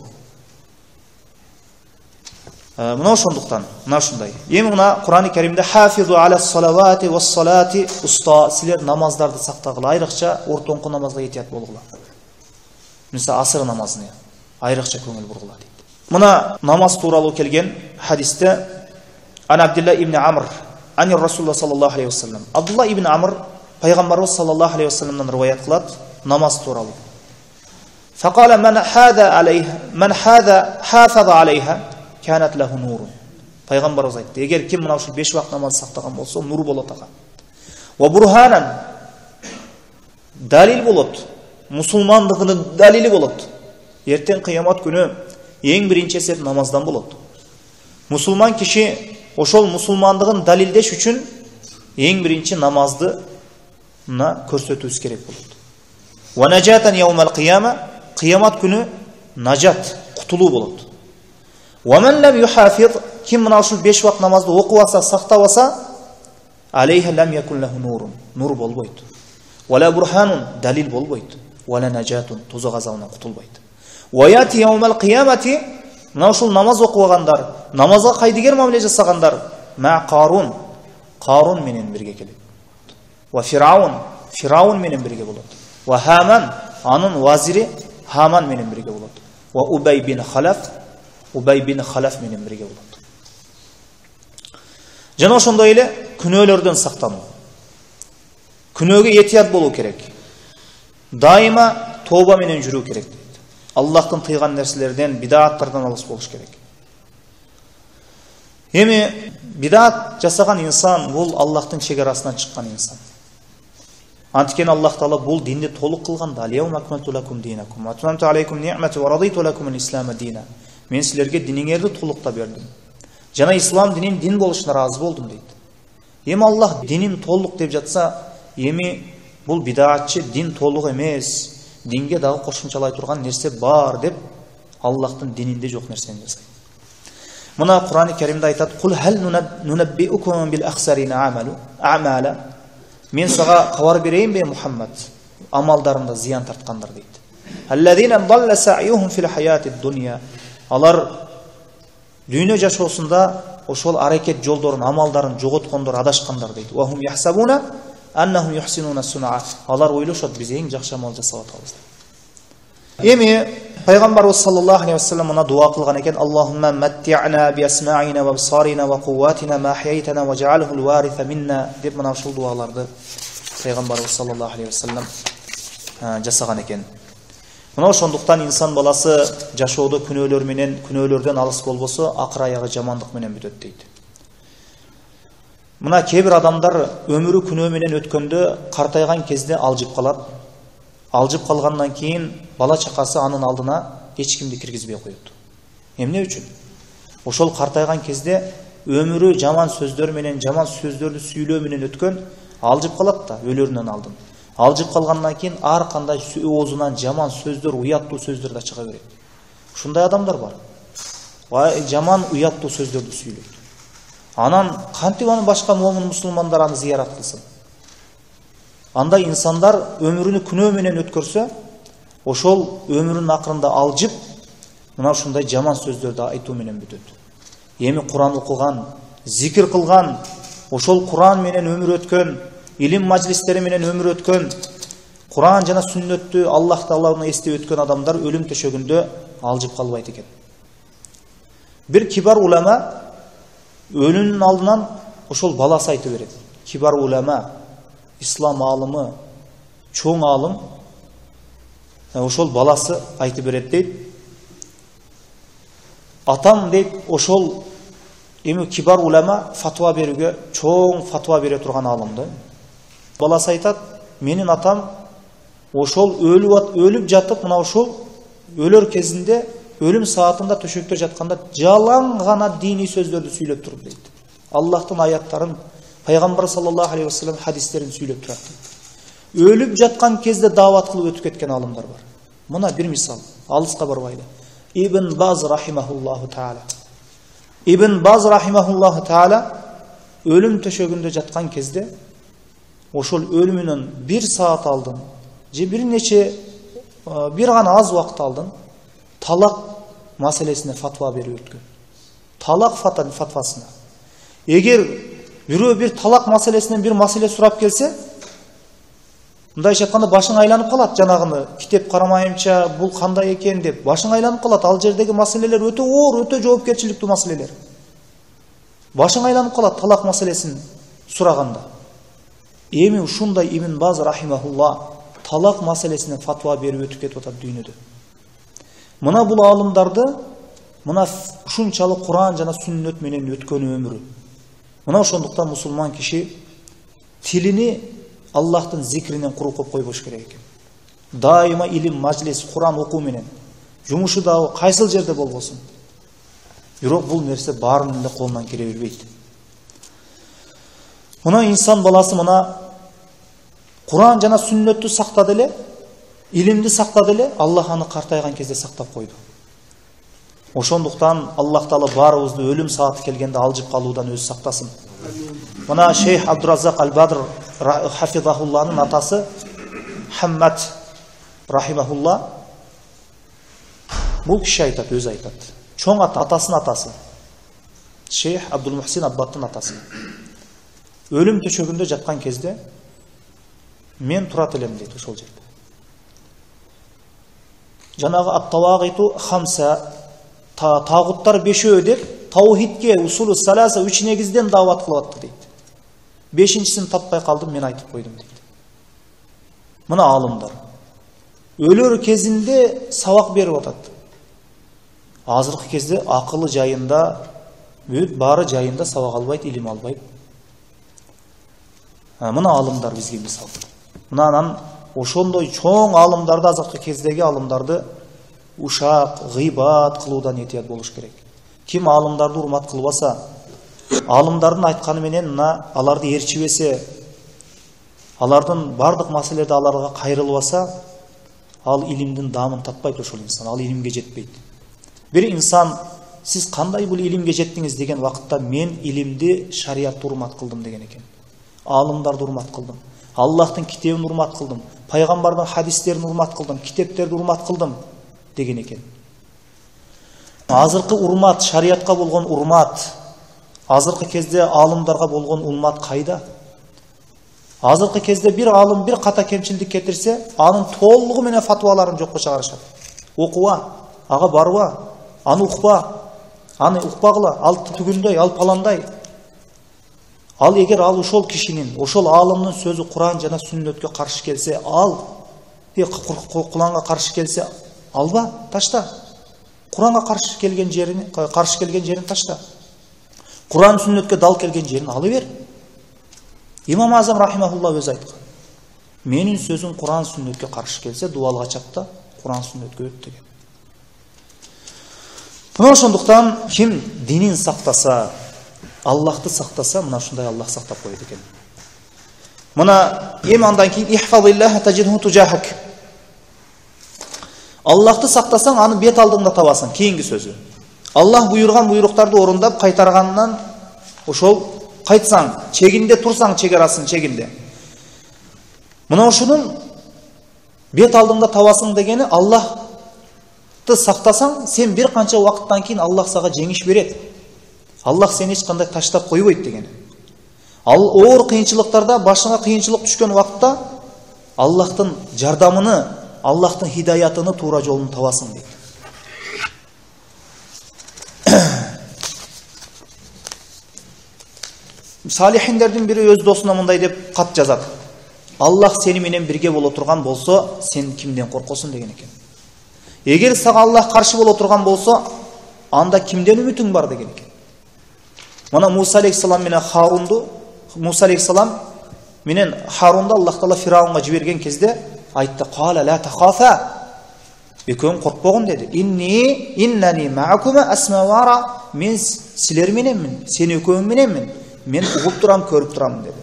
Мына ошондуктан, мына ушундай. Эми мына Кур'ан-ы Каримде хафизу алас салавати вас салати, уста, силер намаздарды сактагыла, айрыкча ортоңку намазга этият болгула. Мисалы асыр намазын. айрыкча көңүл бургула дейт. Мына намаз тууралуу келген хадисте Ан Абдулла ибн Амр ани Расулуллах саллаллаху алейхи вассалам. Абдулла ибн Амр пайгамбарыбыз саллаллаху алейхи вассаламдан риваят кылат намаз тууралуу. Факала ман хада алейха ман хада хафаза алейха канат лаху нурун. Пайгамбарыбыз айтты, эгер ким мына ушул беш вакыт намаз сактаган болсо, нур болот ага. Ва бурханан далил болот, мусулмандыгынын далили болот. Эртең кыямат күнү эң биринчи эсеп намаздан болот. Мусулман киши ошол мусулмандыгын далилдеш үчүн эң биринчи намазды на көрсөтүүсү керек болот. Ва najatan yawmal qiyama, кыямат күнү нажат, кутулуу болот. Ва ман лам юхафиз, ким мына ушул беш вакыт намазды окуп алса, сактап алса, алейха лам якун лаху нурун, нур болбойт. Вала бурханун, далил болбойт. Вала najatun, тозок азабынан кутулбайт. Ва яти yawmal qiyamati, мына ушул намаз окугандар, намазга кайдыгер мамиле жасагандар, ма Карун, Карун менен бирге келет. Ва Фираун, Фираун менен бирге болот. Ва Хаман, анын вазири Хаман менен бирге болот. Ва Убай бин Халаф, Убай бин Халаф менен бирге болот. Жана ошондой эле күнөөлөрдөн сактануу. Күнөөгө этият болуу керек. Дайыма тооба менен жүрүү керек. Аллахтын тыйган нерселерден, бидаттардан алыс болуш керек. Эми бидат жасаган инсан бул Аллахтын чегарасынан чыккан инсан. Анткени Аллах Таала бул динди толук кылган. Алияум акмалту лакум динакум ва атмамту алейкум ни'мати ва радиту лакум ал-ислама дина. Мен силерге диниңерди толуктап бердим. Жана ислам динин дин болушуна ыраазы болдум дейт. Эми Аллах динин толук деп жатса, эми бул бидатчы дин толук эмес, динге дагы кошумчалай турган нерсе бар деп Аллахтын дининде жок нерсени жасайт. Мына Кур'ан-ы Каримде айтат: "Кул хал нунаббиукум бил ахсарина амалу амала." Мен сага кабар берейин бе Мухаммад, амалдарында зыян тарткандар дейт. "Аллазина далла сa'юхум фил хаятид дуnya." Алар дүйнө жашоосунда ошол аракет жолдорун, амалдарын жоготкондор, адашкандар дейт. "Ва хум яхсабуна аннахум юхсинуна суна." Алар ойлошот, биз эң жакшы амал жасап атабыз. Эми пайгамбарыбыз саллаллаху алейхи вассалам мына дуа кылган экен: "Аллахумма матти'на би асма'ина ва абсарина ва кувватина ма ахяйтана ва жa'алху al-waritha minna." деп мына ушул дуаларды пайгамбарыбыз саллаллаху алейхи вассалам жасаган экен. Мына ошондуктан инсан баласы жашоодо күнөөлөр менен, күнөөлөрдөн алыс болбосо, акыр аягы жамандык менен бүтөт дейт. Мына кээ бир адамдар өмүрү күнөө менен өткөндө картайган кезде алжып калат. Алжып калгандан кийин бала чакасы анын алдына эч кимди киргизбей коет. Эмне үчүн? Ошол картайган кезде өмүрү жаман сөздөр менен, жаман сөздөрдү сүйлөө менен өткөн, алжып калат да өлөрүнөн алдын. Алжып калгандан кийин ар кандай оозунан жаман сөздөр, уяттуу сөздөр да чыга берет. Ушундай адамдар бар. Жаман уяттуу сөздөрдү сүйлөйт. Анан кантип аны башка момун мусулмандар аны зыярат кылсын? Андай инсандар өмүрүнү күнөө менен өткөрсө, ошол өмүрүнүн акырында алжып, мына ушундай жаман сөздөрдү айтуу менен бүтөт. Эми Кур'ан окуган, зикир кылган, ошол Кур'ан менен өмүр өткөн, илим мажлистери менен өмүр өткөн, Кур'ан жана сүннөттү Аллах Тааланы эстеп өткөн адамдар өлүм төшөгүндө алжып калбайт экен. Бир кибар улама өлүмүнүн алдынан ошол баласы айтып берет. Кибар улама, ислам алымы, чоң алым, ошол баласы айтып берет дейт. Атам дейт, ошол эми кибар улама фатва берүүгө, чоң фатва бере турган алымды. Баласы айтат: "Менин атам ошол өлүп өлүп жатып, мына ошол өлөр кезинде, өлүм саатында төшөктө жатканда жалаң гана диний сөздөрдү сүйлөп туруп" дейт. Аллахтын аяттарын, пайгамбар саллаллаху алейхи вассалам хадистерин сүйлөп турат. Өлүп жаткан кезде даават кылып өтүп кеткен алымдар бар. Мына бир мисал, алыска барбайды. Ибн Баз рахимахуллаху таала. Ибн Баз рахимахуллаху таала өлүм төшөгүндө жаткан кезде ошол өлүмүнөн бир саат алдын, же бир нече бир гана аз убакыт алдын талак маселесине фатва берип өткөн. Талак фатвасына. Эгер бирөө бир талак маселесинен бир маселе сурап келсе, Мындайча айтканда башың айланып калат, жанагыны китеп карамайымча бул кандай экен деп башың айланып калат. Ал жердеги маселелер өтө оор, өтө жоопкерчиликтүү маселелер. Башың айланып калат талак маселесин сураганда. Эми ушундай Ибн Баз рахимахулла талак маселесине фатва берип өтүп кетип атат дүйнөдө. Мына бул аалымдарды мына ушунчалык Куран жана сүннөт менен өткөн өмүрү. Мына ошондуктан мусулман киши тилини Аллахтын зикринен куру коп койбош керек экен. Дайыма илим, мажлис, Куран окуу менен жумушу дагы кайсыл жерде болбосун. Бирок бул нерсе баарынын эле колунан келе бербейт. Мына инсан баласы мына Куран жана сүннөттү сактады эле, илимди сактады эле, Аллах аны картайган кезде сактап койду. Ошондуктан Аллах Таала баарыбызды өлүм сааты келгенде алжып калуудан өзү сактасын. Мына Шейх Абдураззак Аль-Бадр хафизахулланын атасы Хаммад рахимахулла бул киши айтат, өзү айтат. Чоң ата, атасынын атасы. Шейх Абдул Мухсин Аббаттын атасы. Өлүм төшөгүндө жаткан кезде мен турат элем дейт ошол жерде. Жанагы ат-тавагиту хамса, тагуттар бешөө деп таухидке, усулу саласа үч негизден даават кылып атты дейт. Бешинчисин таппай калдым, мен айтып койдум дейт. Мына аалымдар өлөр кезинде сабак берип атат. Азыркы кезде акылы жайында, бүт баары жайында сабак албайт, илим албайт. Мына аалымдар бизге мисал. Мына анан ошондой чоң аалымдарды, азыркы кездеги аалымдарды ушак, гыйбат кылуудан этият болуш керек. Ким аалымдарды урмат кылбаса, аалымдардын айтканы менен мына аларды ээрчибесе, алардын бардык маселелерде аларга кайрылбаса, ал илимдин даамын татпайт ошол инсан, ал илимге жетпейт. Бир инсан сиз кандай бул илимге жеттиңиз деген вакытта мен илимди, шариатты урмат кылдым деген экен. Аалымдарды урмат кылдым. Аллахтын китебин урмат кылдым. Пайгамбардын хадистерин урмат кылдым, китептерди урмат кылдым деген экен. Азыркы урмат, шариатка болгон урмат, азыркы кезде аалымдарга болгон урмат кайда? Азыркы кезде бир аалым бир ката кемчилдик кетирсе, анын толугу менен фатваларын жокко чыгарышат. Окуба, ага барба, аны укпа, аны укпагыла, ал түгүндөй, ал паландай. Ал эгер ал ошол кишинин, ошол аалымдын сөзү Куран жана сүннөткө каршы келсе, ал Куранга каршы келсе, алба, ташта. Куранга каршы келген жерин, каршы келген жерин ташта. Куран сүннөткө дал келген жерин алы бер. Имам Азам рахимахулла өзү айткан. Менин сөзүм Куран сүннөткө каршы келсе, дуалга чапта, Куран сүннөткө өт деген. Мына ошондуктан ким динин сактаса, Аллахты сактаса, мына ушундай Аллах сактап коет экен. Мына эми андан кийин ихфазиллаха таджидху туджахак. Аллахты сактасаң, аны бет алдыңда табасың. Кийинки сөзү. Аллах буйрган буйруктарды орундап кайтаргандан ошол кайтсаң, чегинде турсаң, чегарасын чегинде. Мына ушунун бет алдыңда табасың дегени, Аллахты сактасаң, сен бир канча убакыттан кийин Аллах сага жеңиш берет. Аллах сени эч кандай таштап койбойт дегени. Ал оор кыйынчылыктарда, башыңа кыйынчылык түшкөн убакытта Аллахтын жардамыны, Аллахтын хидаятыны, туура жолун табасың дейт. Салихиндердин бири өз досуна мындай деп кат жазат. Аллах сени менен бирге боло турган болсо, сен кимден коркосуң деген экен. Эгер сага Аллах каршы боло турган болсо, анда кимден үмүтүң бар деген экен. Мына Муса алейхиссалам менен Харунду, Муса алейхиссалам менен Харунду Аллах Таала Фираунга жиберген кезде айтты: "Кала ла тахафа." Экөөң коркпогон деди. "Инни иннани ма'акума асма ва ара." Мен силер мененмин, сен экөөң мененмин. Мен угуп турам, көрүп турам деди.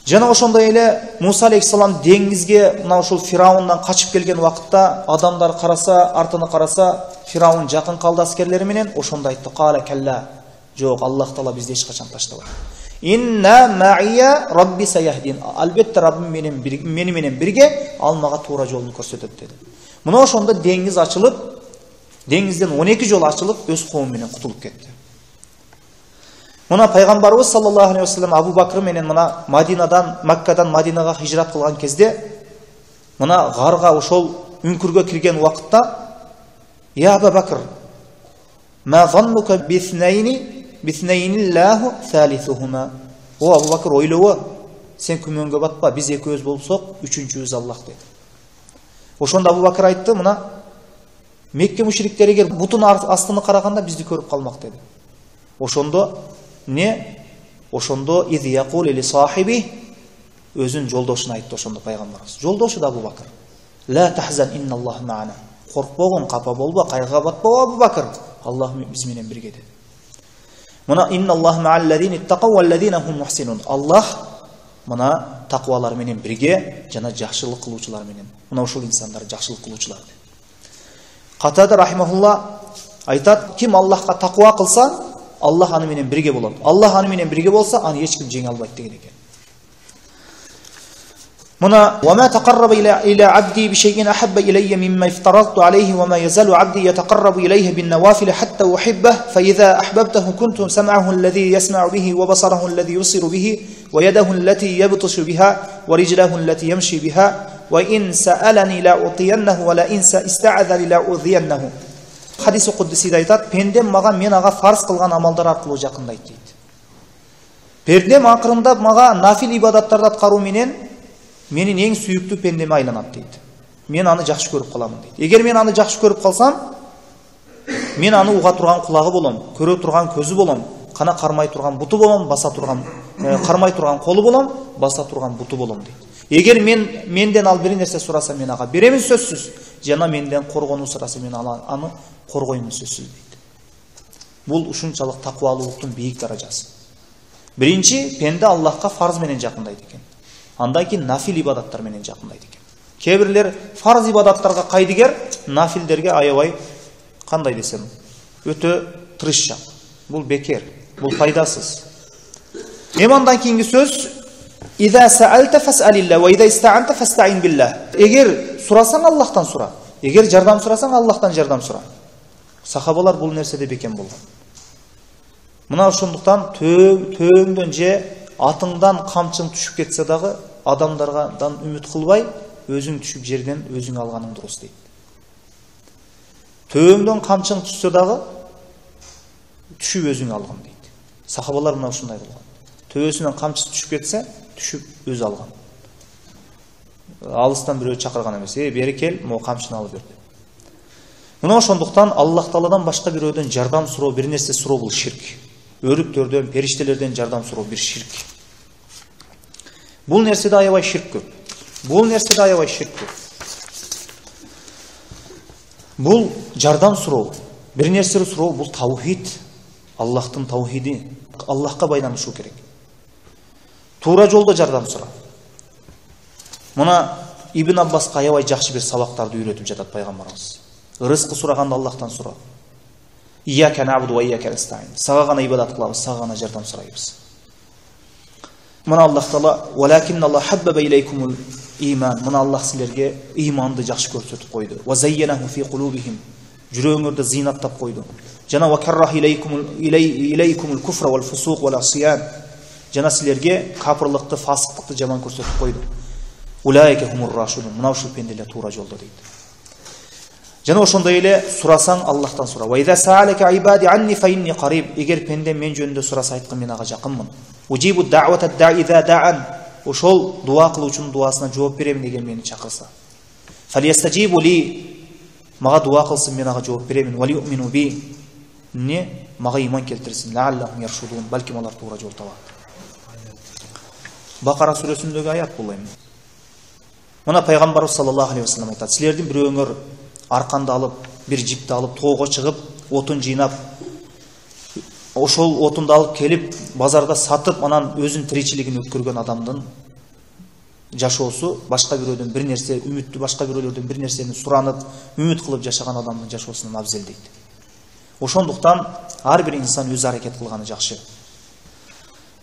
Жана ошондой эле Муса алейхиссалам деңизге мына ушул Фираундан качып келген убакытта адамдар караса, артына караса, Фираун жакын калды аскерлери менен, ошондо айтты: "Кала калла." Жок, Аллах Таала бизди эч качан таштабайт. Инна ма'ия рабби саяхдин. Албетте Раббим менен бирге, мени менен бирге, ал мага туура жолун көрсөтөт деди. Мына ошондо деңиз ачылып, деңизден он эки жол ачылып, өз коому менен кутулуп кетти. Мына пайгамбарыбыз саллаллаху алейхи вассалам Абу Бакр менен мына Мадинадан, Маккадан Мадинага хижрат кылган кезде мына гарга ошол үңкүргө кирген убакытта: "Я Абу Бакр, ма заннука битhnayni bithnayinillahu thalithuhuma?" О Абу Бакр, ойлобо, сен күмөнгө батпа, биз экөөбүз болсок, үчүнчүбүз Аллах деди. Ошондо Абу Бакр айтты: "Мына Мекке мушриктери эгер бутун астыны караганда бизди көрүп калмак" деди. Ошондо не? Ошондо из якул ли сахиби, өзүн жолдошуна айтты ошондо пайгамбарыбыз. Жолдошу да Абу Бакр. Ла тахзан инналлаху ма'ана. Коркпогон, капа болбо, кайгыга батпа Абу Бакр. Аллах биз менен бирге деди. Мына инналлаху ма'аллазина иттақау валлазина хум мухсинун. Аллах мына таквалар менен бирге жана жакшылык кылуучулар менен. Мына ошол инсандар жакшылык кылуучулар. Катада рахимахулла айтат: ким Аллахка таква кылса, Аллах аны менен бирге болот. Аллах аны менен бирге болса, аны эч ким жеңе албайт деген экен. Мына وما تقرب إلى عبدي بشيء أحب إلي مما افترضت عليه وما يزال عبدي يتقرب إليه بالنوافل حتى أحبه فإذا أحببته كنت سمعه الذي يسمع به وبصره الذي يبصر به ويده التي يبطش بها ورجله التي يمشي بها وإن سألني لأعطينه ولئن استعاذني لأعوذينه. Хадис кудсиде айтат: пендем мага мен ага фарз кылган амалдар аркылуу жакындайт дейт. Пендем акырындап мага нафил ибадаттарды аткаруу менен менин эң сүйүктүү пендеме айланат дейт. Мен аны жакшы көрүп каламын дейт. Эгер мен аны жакшы көрүп калсам, мен аны уга турган кулагы болом, көрө турган көзү болом, кана кармай турган буту болом, баса турган кармай турган колу болом, баса турган буту болом дейт. Эгер мен менден ал бир нерсе сураса, мен ага беремин сөзсүз. Жана менден коргонуу сураса, мен аны коргоймун сөзсүз дейт. Бул ушунчалык таквалуулуктун бийик даражасы. Биринчи, пенде Аллахка фарз менен жакындайт экен. Андан кийин нафил ибадаттар менен жакындайт экен. Кээ бирлер фарз ибадаттарга кайдыгер, нафилдерге аябай кандай десем, өтө тырышчак. Бул бекер, бул пайдасыз. Эми андан кийинки сөз: "Иза саалта фас'алилла ва иза иста'анта фастаин билlah." Эгер сурасаң Аллахтан сура, эгер жардам сурасаң Аллахтан жардам сура. Сахабалар бул нерседе бекем болгон. Мына ошондуктан төөңдөн же атыңдан камчың түшүп кетсе дагы адамдардан үмүт кылбай, өзүң түшүп жерден өзүң алганың дурус дейт. Төөңдөн камчың түшсө дагы түшүп өзүң алган дейт. Сахабалар мына ушундай болгон. Төөсүнөн камчысы түшүп кетсе, түшүп өзү алган. Алыстан бирөө чакырган эмес, "Э, бери кел, могу камчыны алып бер" деп. Мына ошондуктан Аллах Тааладан башка бирөөдөн жардам суроо, бир нерсе суроо бул ширк. Өрүктөрдөн, периштелерден жардам суроо бир ширк. Бул нерседе аябай ширк көп. Бул нерседе аябай ширк көп. Бул жардам суроо, бир нерсе суроо, бул таухид. Аллахтын таухиди. Аллахка байланышуу керек. Туура жолдо жардам сура. Мына Ибн Аббаска аябай жакшы бир сабактарды үйрөтүп жатат пайгамбарыбыз. Рызкы сураганда Аллахтан сура. Ияка набуду ва ияка настаин. Сага гана ибадат кылабыз, сага гана жардам сурайбыз. Мына Аллах Таала "Валакин Аллах хаббаба илейкумул иман." Мына Аллах силерге иманды жакшы көрсөтүп койду. Ва зайянаху фи кулубихим. Жүрөгүңөрдө зинаттап койду. Жана ва каррах илейкумул илейкумул куфра вал фусук вал асиян. Жана силерге капырлыкты, фасыктыкты жаман көрсөтүп койду. Улайка хумур рашидун. Мына ушул пенделер туура жолдо дейт. Жана ошондой эле сурасаң Аллахтан сура. Ва иза саалака ибади анни фа инни қариб. Эгер пенде мен жөнүндө сураса айткын, мен ага жакынмын. Ужибу да'вата да'i иза дa'ан. Ошол дуа кылуучунун дуасына жооп беремин деген мени чакырса. Фалиястажибу ли. Мага дуа кылсын, мен ага жооп беремин. Ва лиюмину би. Не? Мага иман келтирсин. Ла'аллахум яршудун. Балким алар туура жол табат. Бакара сүрөсүндөгү аят бул эми. Мына пайгамбарыбыз саллаллаху алейхи вассалам айтат: силердин бирөөңөр арканды алып, бир жипти алып, тоого чыгып, отун жыйнап, ошол отунду алып келип, базарда сатып, анан өзүнүн тиричилигин өткөргөн адамдын жашоосу башка бирөөдөн бир нерсе, үмүттү башка бирөөлөрдөн бир нерсени суранып, үмүт кылып жашаган адамдын жашоосунан абзел дейт. Ошондуктан ар бир инсан өз аракет кылганы жакшы.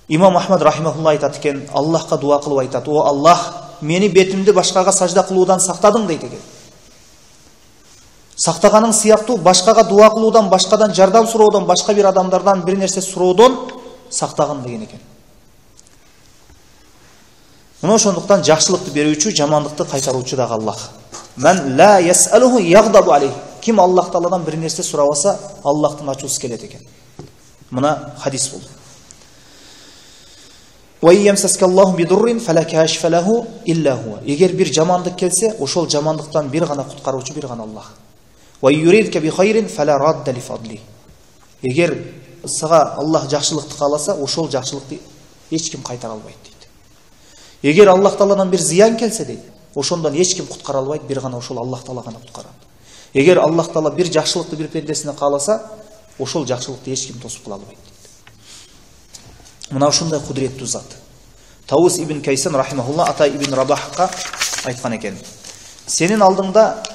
Имам Ахмад рахимахулла айтат экен, Аллахка дуа кылып айтат: "О Аллах, мени бетимди башкага сажда кылуудан сактадың" дейт экен. Сактаганың сыяктуу башкага дуа кылуудан, башкадан жардам суроодон, башка бир адамдардан бир нерсе суроодон сактагын деген экен. Мына ошондуктан жакшылыкты берүүчү, жамандыкты кайтаруучу дагы Аллах. Мен ла ясалуху ягдабу алейх. Ким Аллах Тааладан бир нерсе сурабаса, Аллахтын ачуусу келет экен. Мына хадис бул. Ва ямсаскаллаху бидуррин фала кашфа лаху илля хуа. Эгер бир жамандык келсе, ошол жамандыктан бир гана куткаруучу бир гана Аллах. Ва юридка би хайрин фала радда ли фадли. Эгер сага Аллах жакшылыкты кааласа, ошол жакшылыкты эч ким кайтара албайт дейт. Эгер Аллах Тааладан бир зыян келсе дейт, ошондон эч ким куткара албайт, бир гана ошол Аллах Таала гана куткарат. Эгер Аллах Таала бир жакшылыкты бир пендесине кааласа, ошол жакшылыкты эч ким тосуп кыла албайт дейт. Мына ушундай кудуреттүү зат. Таус ибн Кайсан рахимахулла Ата ибн Рабахка айткан экен. Сенин алдыңда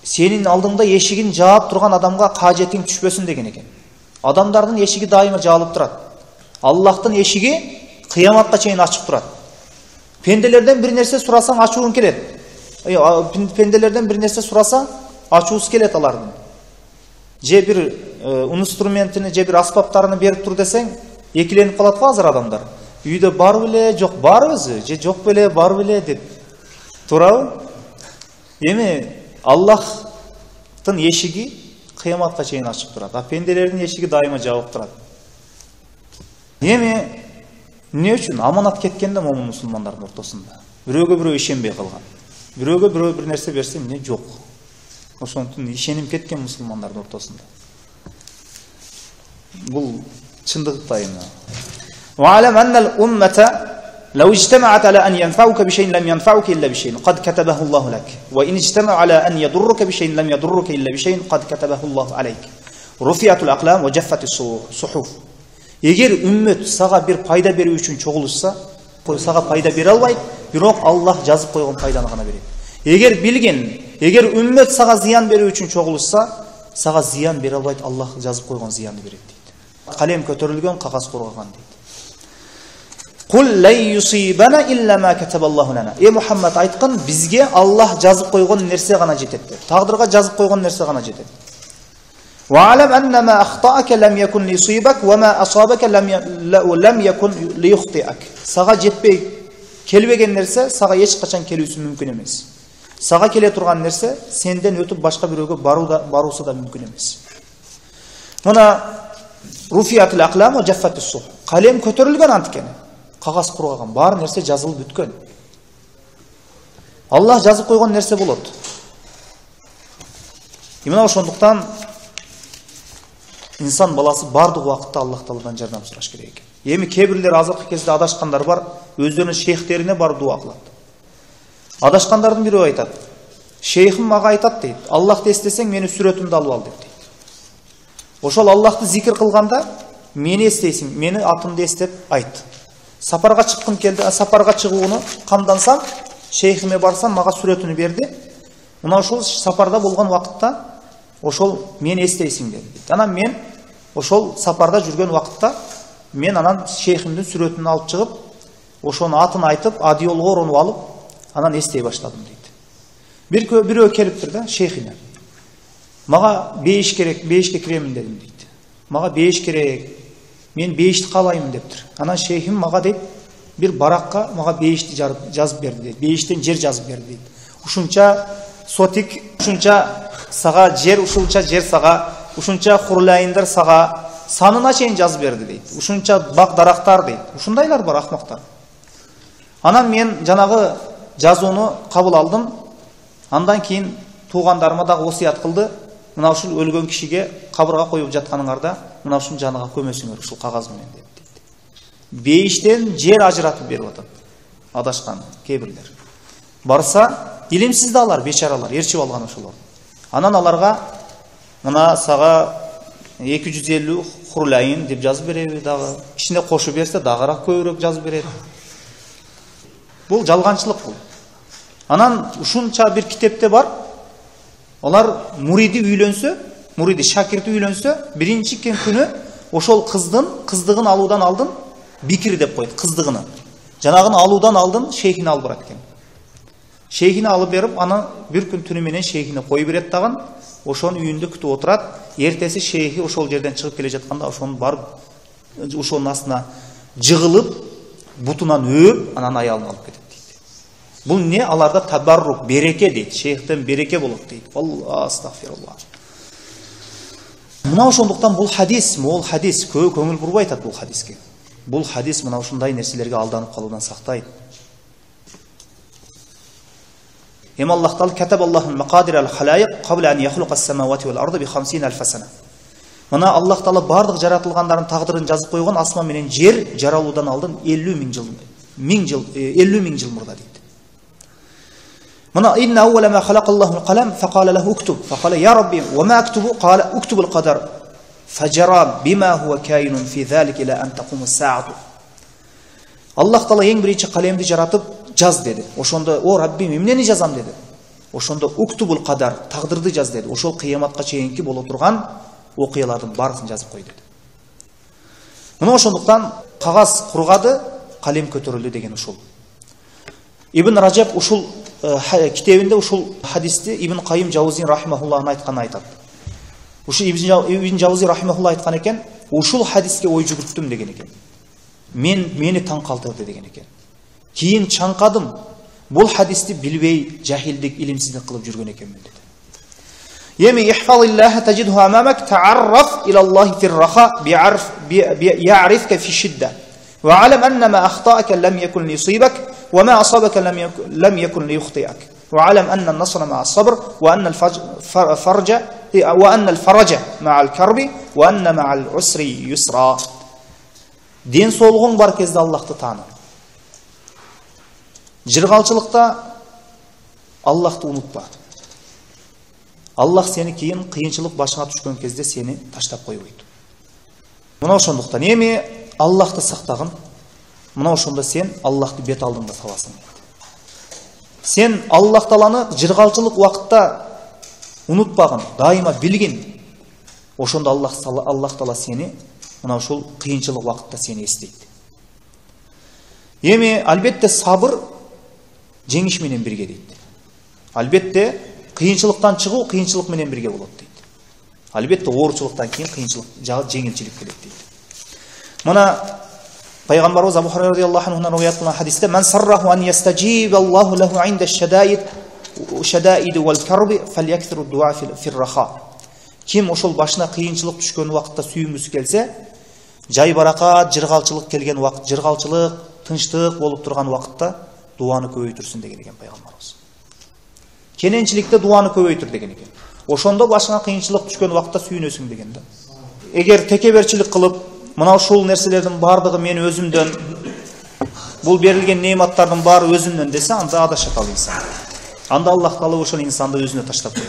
сенин алдыңда эшигин жаап турган адамга кажетиң түшпөсүн деген экен. Адамдардын эшиги дайыма жаалып турат. Аллахтын эшиги кыяматка чейин ачык турат. Пенделерден бир нерсе сурасаң ачууң келет. Пенделерден бир нерсе сураса ачуусу келет алардын. Же бир инструментини, же бир аспаптарын берип тур десең, экиленип калат го азыр адамдар. Үйдө бар беле, жок барбызбы, же жок беле, бар беле деп турабы? Эми Аллахтын эшиги кыяматка чейин ачык турат. А пенделердин эшиги дайыма жабык турат. Эми эмне үчүн аманат кеткенде момун мусулмандардын ортосунда? Бирөөгө бирөө ишенбей калган. Бирөөгө бирөө бир нерсе берсе, эмне жок. Ошондуктан ишеним кеткен мусулмандардын ортосунда. Бул чындыкта эми. Ва алам аннал уммата لو اجتمعت على أن ينفعوك بشيء لم ينفعوك إلا بشيء قد كتبه الله لك وإن اجتمعوا على أن يضرك بشيء لم يضرك إلا بشيء قد كتبه الله عليك رفعت الأقلام وجفت الصحف. Эгер үммөт сага бир пайда берүү үчүн чогулушса, сага пайда бере албайт, бирок Аллах жазып койгон пайданы гана берет. Эгер билген, эгер үммөт сага зыян берүү үчүн чогулушса, сага зыян бере албайт, Аллах жазып койгон зыянды берет дейт. Калем көтөрүлгөн, кагаз коргогон дейт. Кул лай юсибана илля ма катабаллаху лана. Э Мухаммад айткан, бизге Аллах жазып койгон нерсе гана жетет деп. Тагдырга жазып койгон нерсе гана жетет. Ва алам анна ма ахтаака лам якун лисибак ва ма асабака лам лам якун лиюхтиак. Сага жетпей келбеген нерсе сага эч качан келүүсү мүмкүн эмес. Сага келе турган нерсе сенден өтүп башка бирөөгө баруу да баруусу да мүмкүн эмес. Мына руфиятул aqlam ва jaffатус сух. Калем көтөрүлгөн анткени. Кагаз кургаган, бар нерсе жазылып бүткөн. Аллах жазып койгон нерсе болот. Именно ошондуктан инсан баласы бардык убакытта Аллах Тааладан жардам сураш керек экен. Эми кээ бирлер азыркы кезде адашкандар бар, өздөрүнүн шейхтерине барып дуа кылат. Адашкандардын бири айтат: "Шейхим мага айтат" дейт. "Аллахты эстесең, мени сүрөтүмдү алып ал" деп дейт. Ошол Аллахты зикир кылганда мени эстейсиң, мени атымды эстеп айт. Сапарга чыккым келди, сапарга чыгууну камдансам, шейхиме барсам, мага сүрөтүнү берди. Мына ошол сапарда болгон убакытта ошол мени эстейсиң dedi. Анан мен ошол сапарда жүргөн убакытта мен анан шейхимдин сүрөтүн алып чыгып, ошонун атын айтып, адиолго оронуп алып, анан эстей баштадым дейт. Бир бирөө келиптир да шейхине. Мага бейиш керек, бейишке киремин дедим дейт. Мага бейиш керек. Мен бейишти каалаймын дептир. Анан шейхим мага дейт, бир баракка мага бейишти жазып берди дейт. Бейиштен жер жазып берди дейт. Ушунча сотик, ушунча сага жер, ушунча жер сага, ушунча хурлайындар сага, санына чейин жазып берди дейт. Ушунча бак дарактар дейт. Ушундайлар бар акмактар. Анан мен жанагы жазууну кабыл алдым. Андан кийин туугандарыма дагы осуят кылды. Мына ушул өлгөн кишиге кабырга коюп жатканыңарда мына ушун жаныга көмөсүңөр ушул кагаз менен деп дейт. Бейиштен жер ажыратып берип атат. Адашкан кээ-бирлер. Барса, илимсиз да алар, бечаралар, ээрчип алган ошолор. Анан аларга мына сага эки жүз элүү хурлайын деп жазып береби дагы. Ичине кошуп берсе дагыраак көбүрөөк жазып берет. Бул жалганчылык бул. Анан ушунча бир китепте бар. Олар муриди үйлөнсө, муриди шакирти үйлөнсө, биринчи күнү ошол кыздын кыздыгын алуудан алдын бикир деп койт, кыздыгыны. Жанагын алуудан алдын шейхине алып барат экен. Шейхине алып берип, аны бир күн түнү менен шейхине коюп берет дагы, ошонун үйүндө күтүп отурат. Эртеси шейхи ошол жерден чыгып келе жатканда ошону барып ошонун астына жыгылып, бутунан өөп, анан аялын алып кетет дейт. Бул не? Аларда табаррук, береке дейт. Шейхтен береке болот дейт. Алла астагфируллах. Мына ошондуктан бул хадис, мол хадис, көп көңүл бурбай атат бул хадиске. Бул хадис мына ушундай нерселерге алданып калуудан сактайт. Эми Аллах Таала катабаллаху мақадир ал-халайq qabla an yakhluqa as-samawati wal-arda bi khamsina alf sana. Мына Аллах Таала бардык жаратылгандардын тагдырын жазып койгон, асман менен жер жаралуудан алдын элүү миң жыл, миң жыл, элүү миң жыл мурда дейт. Мына инна awwala ma khalaqa Allahu al-qalam fa qala lahu uktub fa qala ya rabbi wa ma aktubu qala uktub al-qadar fajara bima huwa kainun fi dhalika ila an taqum as-sa'atu. Аллах Таала эң биринчи калемди жаратып жаз деди. Ошондо о Раббим эмнени жазам деди. Ошондо уктубул кадар, тагдырды жаз деди. Ошол кыяматка чейинки боло турган окуялардын баарысын жазып кой деди. Мына ошондуктан кагаз кургады, калем көтөрүлдү деген ушул. Ибн Раджаб ушул китебинде ушул хадисти Ибн Кайым Жаузи рахимахуллахын айтканын айтат. Ушул Ибн Жаузи рахимахуллах айткан экен, ушул хадиске ой жүгүрттүм деген экен. Мен мени таң калтырды деген экен. Кийин чаңкадым, бул хадисти билбей, жахилдик, илимсиздик кылып жүргөн экенмин деди. Эми ихфазиллаха таҗидху амамак та'аррaf ila Аллахи фир-раха би'арf би'ярифка фи-шидда ва алам анна ма ахта'ака lam yakun liyusibak wa ma asabaka lam yakun lam yakun liyukhti'ak wa alam anna an-nasra ma'a as-sabr wa anna al-farja wa anna al-faraja ma'a al-karbi wa anna ma'a al-usri yusra. Ден соолугуң бар кезде Аллахты тааны. Жыргалчылыкта Аллахты унутпа. Аллах сени кийин кыйынчылык башыңа түшкөн кезде сени таштап койбойт. Мына ошондуктан эми Аллахты сактагын. Мына ошондо сен Аллахты бет алдыңда табасың. Сен Аллах Тааланы жыргалчылык убакытта унутпагын, дайыма билгин. Ошондо Аллах Аллах Таала сени мына ушул кыйынчылык убакытта сени эстейт. Эми албетте сабыр жеңиш менен бирге дейт. Албетте кыйынчылыктан чыгуу кыйынчылык менен бирге болот дейт. Албетте оорчулуктан кийин кыйынчылык жеңилчилик келет дейт. Мына пайгамбарыбыз Абу Хурайра радиаллаху анхунан риwayat кылган хадисте "Ман сарраху ан ястаджиба Аллаху лаху инда аш-шадаид шадаид вал-карби фальяксиру дуа фир-раха." Ким ошол башына кыйынчылык түшкөн убакытта сүйүнгүсү келсе, жай баракат, жыргалчылык келген убакыт, жыргалчылык, тынчтык болуп турган убакытта дуаны көбөйтүрсүн деген экен пайгамбарыбыз. Кененчиликте дуаны көбөйтүр деген экен. Ошондо башыңа кыйынчылык түшкөн убакытта сүйүнөсүң деген да. Эгер текеберчилик кылып, мына ушул нерселердин бардыгы мен өзүмдөн, бул берилген неиматтардын баары өзүмдөн десе, анда адашат ал инсан. Анда Аллах Таала ошол инсанды өзүнө таштап коет.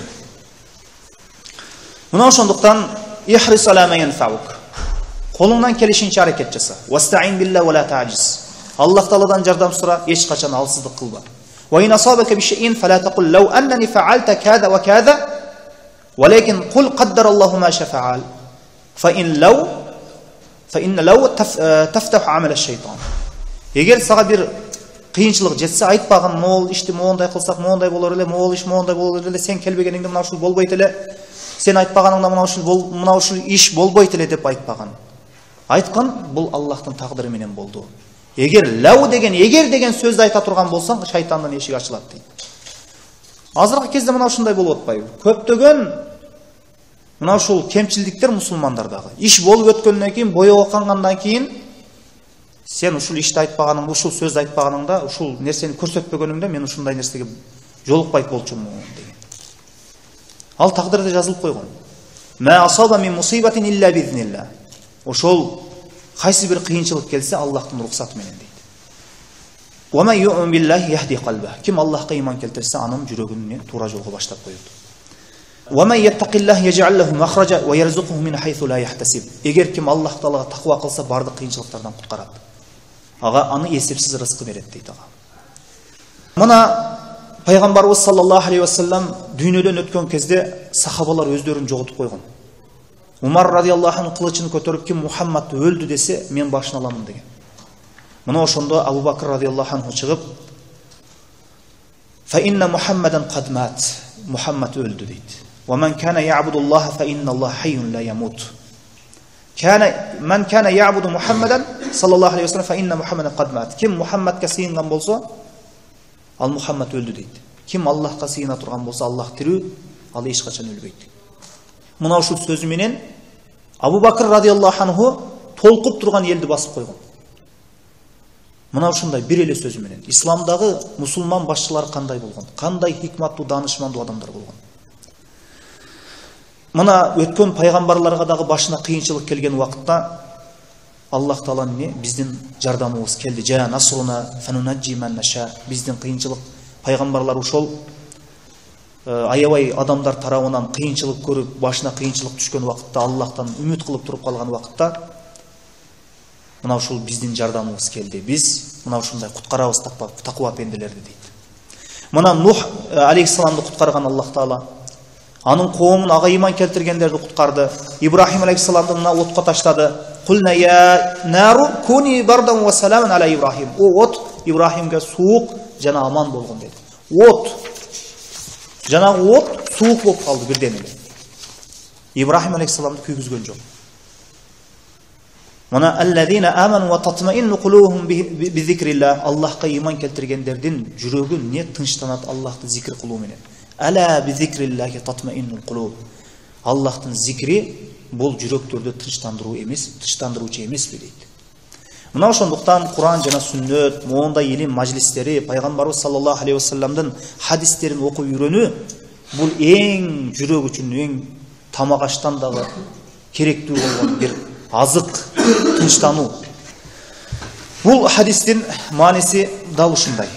Мына ошондуктан ихрис ала ма янфаук. Колуңдан келишинче аракет жаса. Вастаин билла ва ла та'jiz. Аллах Тааладан жардам сура, эч качан алсыздык кылба. Ва ин асабака би шейин фала тaqul law annani fa'alta kada wa kada walakin qul qaddara Allahu ma sha fa'al. Fa in law fa in law taftahu 'amal ash-shaytan. Эгер сага бир кыйынчылык жетсе, айтпаган, могул ишти моундай кылсак, моундай болор эле, могул иш моундай болор эле, сен келбегениңде мына ушул болбойт эле. Сен айтпаганыңда мына ушул бол, мына ушул иш болбойт эле деп айтпаган. Айткан бул Аллахтын тагдыры менен болду. Эгер лау деген, эгер деген сөздү айта турган болсаң, шайтандын эшиги ачылат дейт. Азыркы кезде мына ушундай болуп атпайбы? Көптөгөн мына ушул кемчилдиктер мусулмандардагы. Иш болуп өткөндөн кийин, боёго кангандан кийин сен ушул ишти айтпаганыңда, ушул сөздү айтпаганыңда, ушул нерсени көрсөтпөгөнүңдө мен ушундай нерсеге жолукпайт болчумун деген. Ал тагдырда жазылып койгон. Ма асаба мин мусибатин илля бизнилlah. Ошол кайсы бир кыйынчылык келсе, Аллахтын рухсаты менен дейт. Ва ма ю'мин биллахи яхди qalба. Ким Аллахка иман келтирсе, анын жүрөгүн туура жолго баштап коет. Ва ма яттакиллах яж'ал лаху махраja ва ярзуқуху мин хайсу ла яхтасиб. Эгер ким Аллах Таалага таква кылса, бардык кыйынчылыктардан куткарат. Ага аны эсепсиз рызкы берет дейт ага. Мына пайгамбарыбыз саллаллаху алейхи ва саллям дүйнөдөн өткөн кезде сахабалар өздөрүн жоготуп койгон. Умар радиаллаху анху кылычын көтөрүп, ким Мухаммад өлдү десе, мен башын аламын деген. Мына ошондо Абу Бакр радиаллаху анху чыгып, "Фа инна Мухаммадан кад мат." Мухаммад өлдү дейт. "Ва ман кана я'будуллаха фа инналлаха хайюн ла ямут." Мен кана я'буду Мухаммадан саллаллаху алейхи вассалам фа инна Мухаммадан кад мат. Ким Мухаммадка сыйынган болсо, ал Мухаммад өлдү дейт. Ким Аллахка сыйына турган болсо, Аллах тирүү, ал эч качан өлбөйт. Мына ушул сөзү менен Абу Бакр радиаллаху анху толкуп турган элди басып койгон. Мына ушундай бир эле сөзү менен исламдагы мусулман башчылары кандай болгон, кандай хикматтуу, даанышмандуу адамдар болгон. Мына өткөн пайгамбарларга дагы башына кыйынчылык келген убакытта Аллах Таала эмне биздин жардамыбыз келди. Жа насруна фанунаджи ман наша. Биздин кыйынчылык пайгамбарлар ошол аябай адамдар тарабынан кыйынчылык көрүп, башына кыйынчылык түшкөн убакытта, Аллахтан үмүт кылып туруп калган убакытта мына ушул биздин жардамыбыз келди. Биз мына ушундай куткарабыз таква пенделерди дейт. Мына Нух алейхиссаламды куткарган Аллах Таала, анын коомун ага ыйман келтиргендерди куткарды. Ибрахим алейхиссаламды мына отко таштады. Кулна я нару куни бардан ва саламан аля Ибрахим. О от Ибрахимге суук жана аман болгон деди. От жанагы от суук болуп калды бирден эле. Ибрахим алейхиссаламды күйгүзгөн жок. Мына аллазина аману ва татмаинну кулубухум би зикрилlah. Аллахка ыйман келтиргендердин жүрөгү не тынчтанат Аллахты зикир кылуу менен. Ала би зикриллахи татмаиннул кулуб. Аллахтын зикри бул жүрөктөрдү тынчтандыруу эмес, тынчтандыруучу эмеспи дейт. Мына ошондуктан Куран жана сүннөт, моундай илим мажлистери, пайгамбарыбыз саллаллаху алейхи вассаламдын хадистерин окуп үйрөнүү бул эң жүрөк үчүн эң тамак аштан дагы керектүү болгон бир азык, тынчтануу. Бул хадистин мааниси дал ушундай.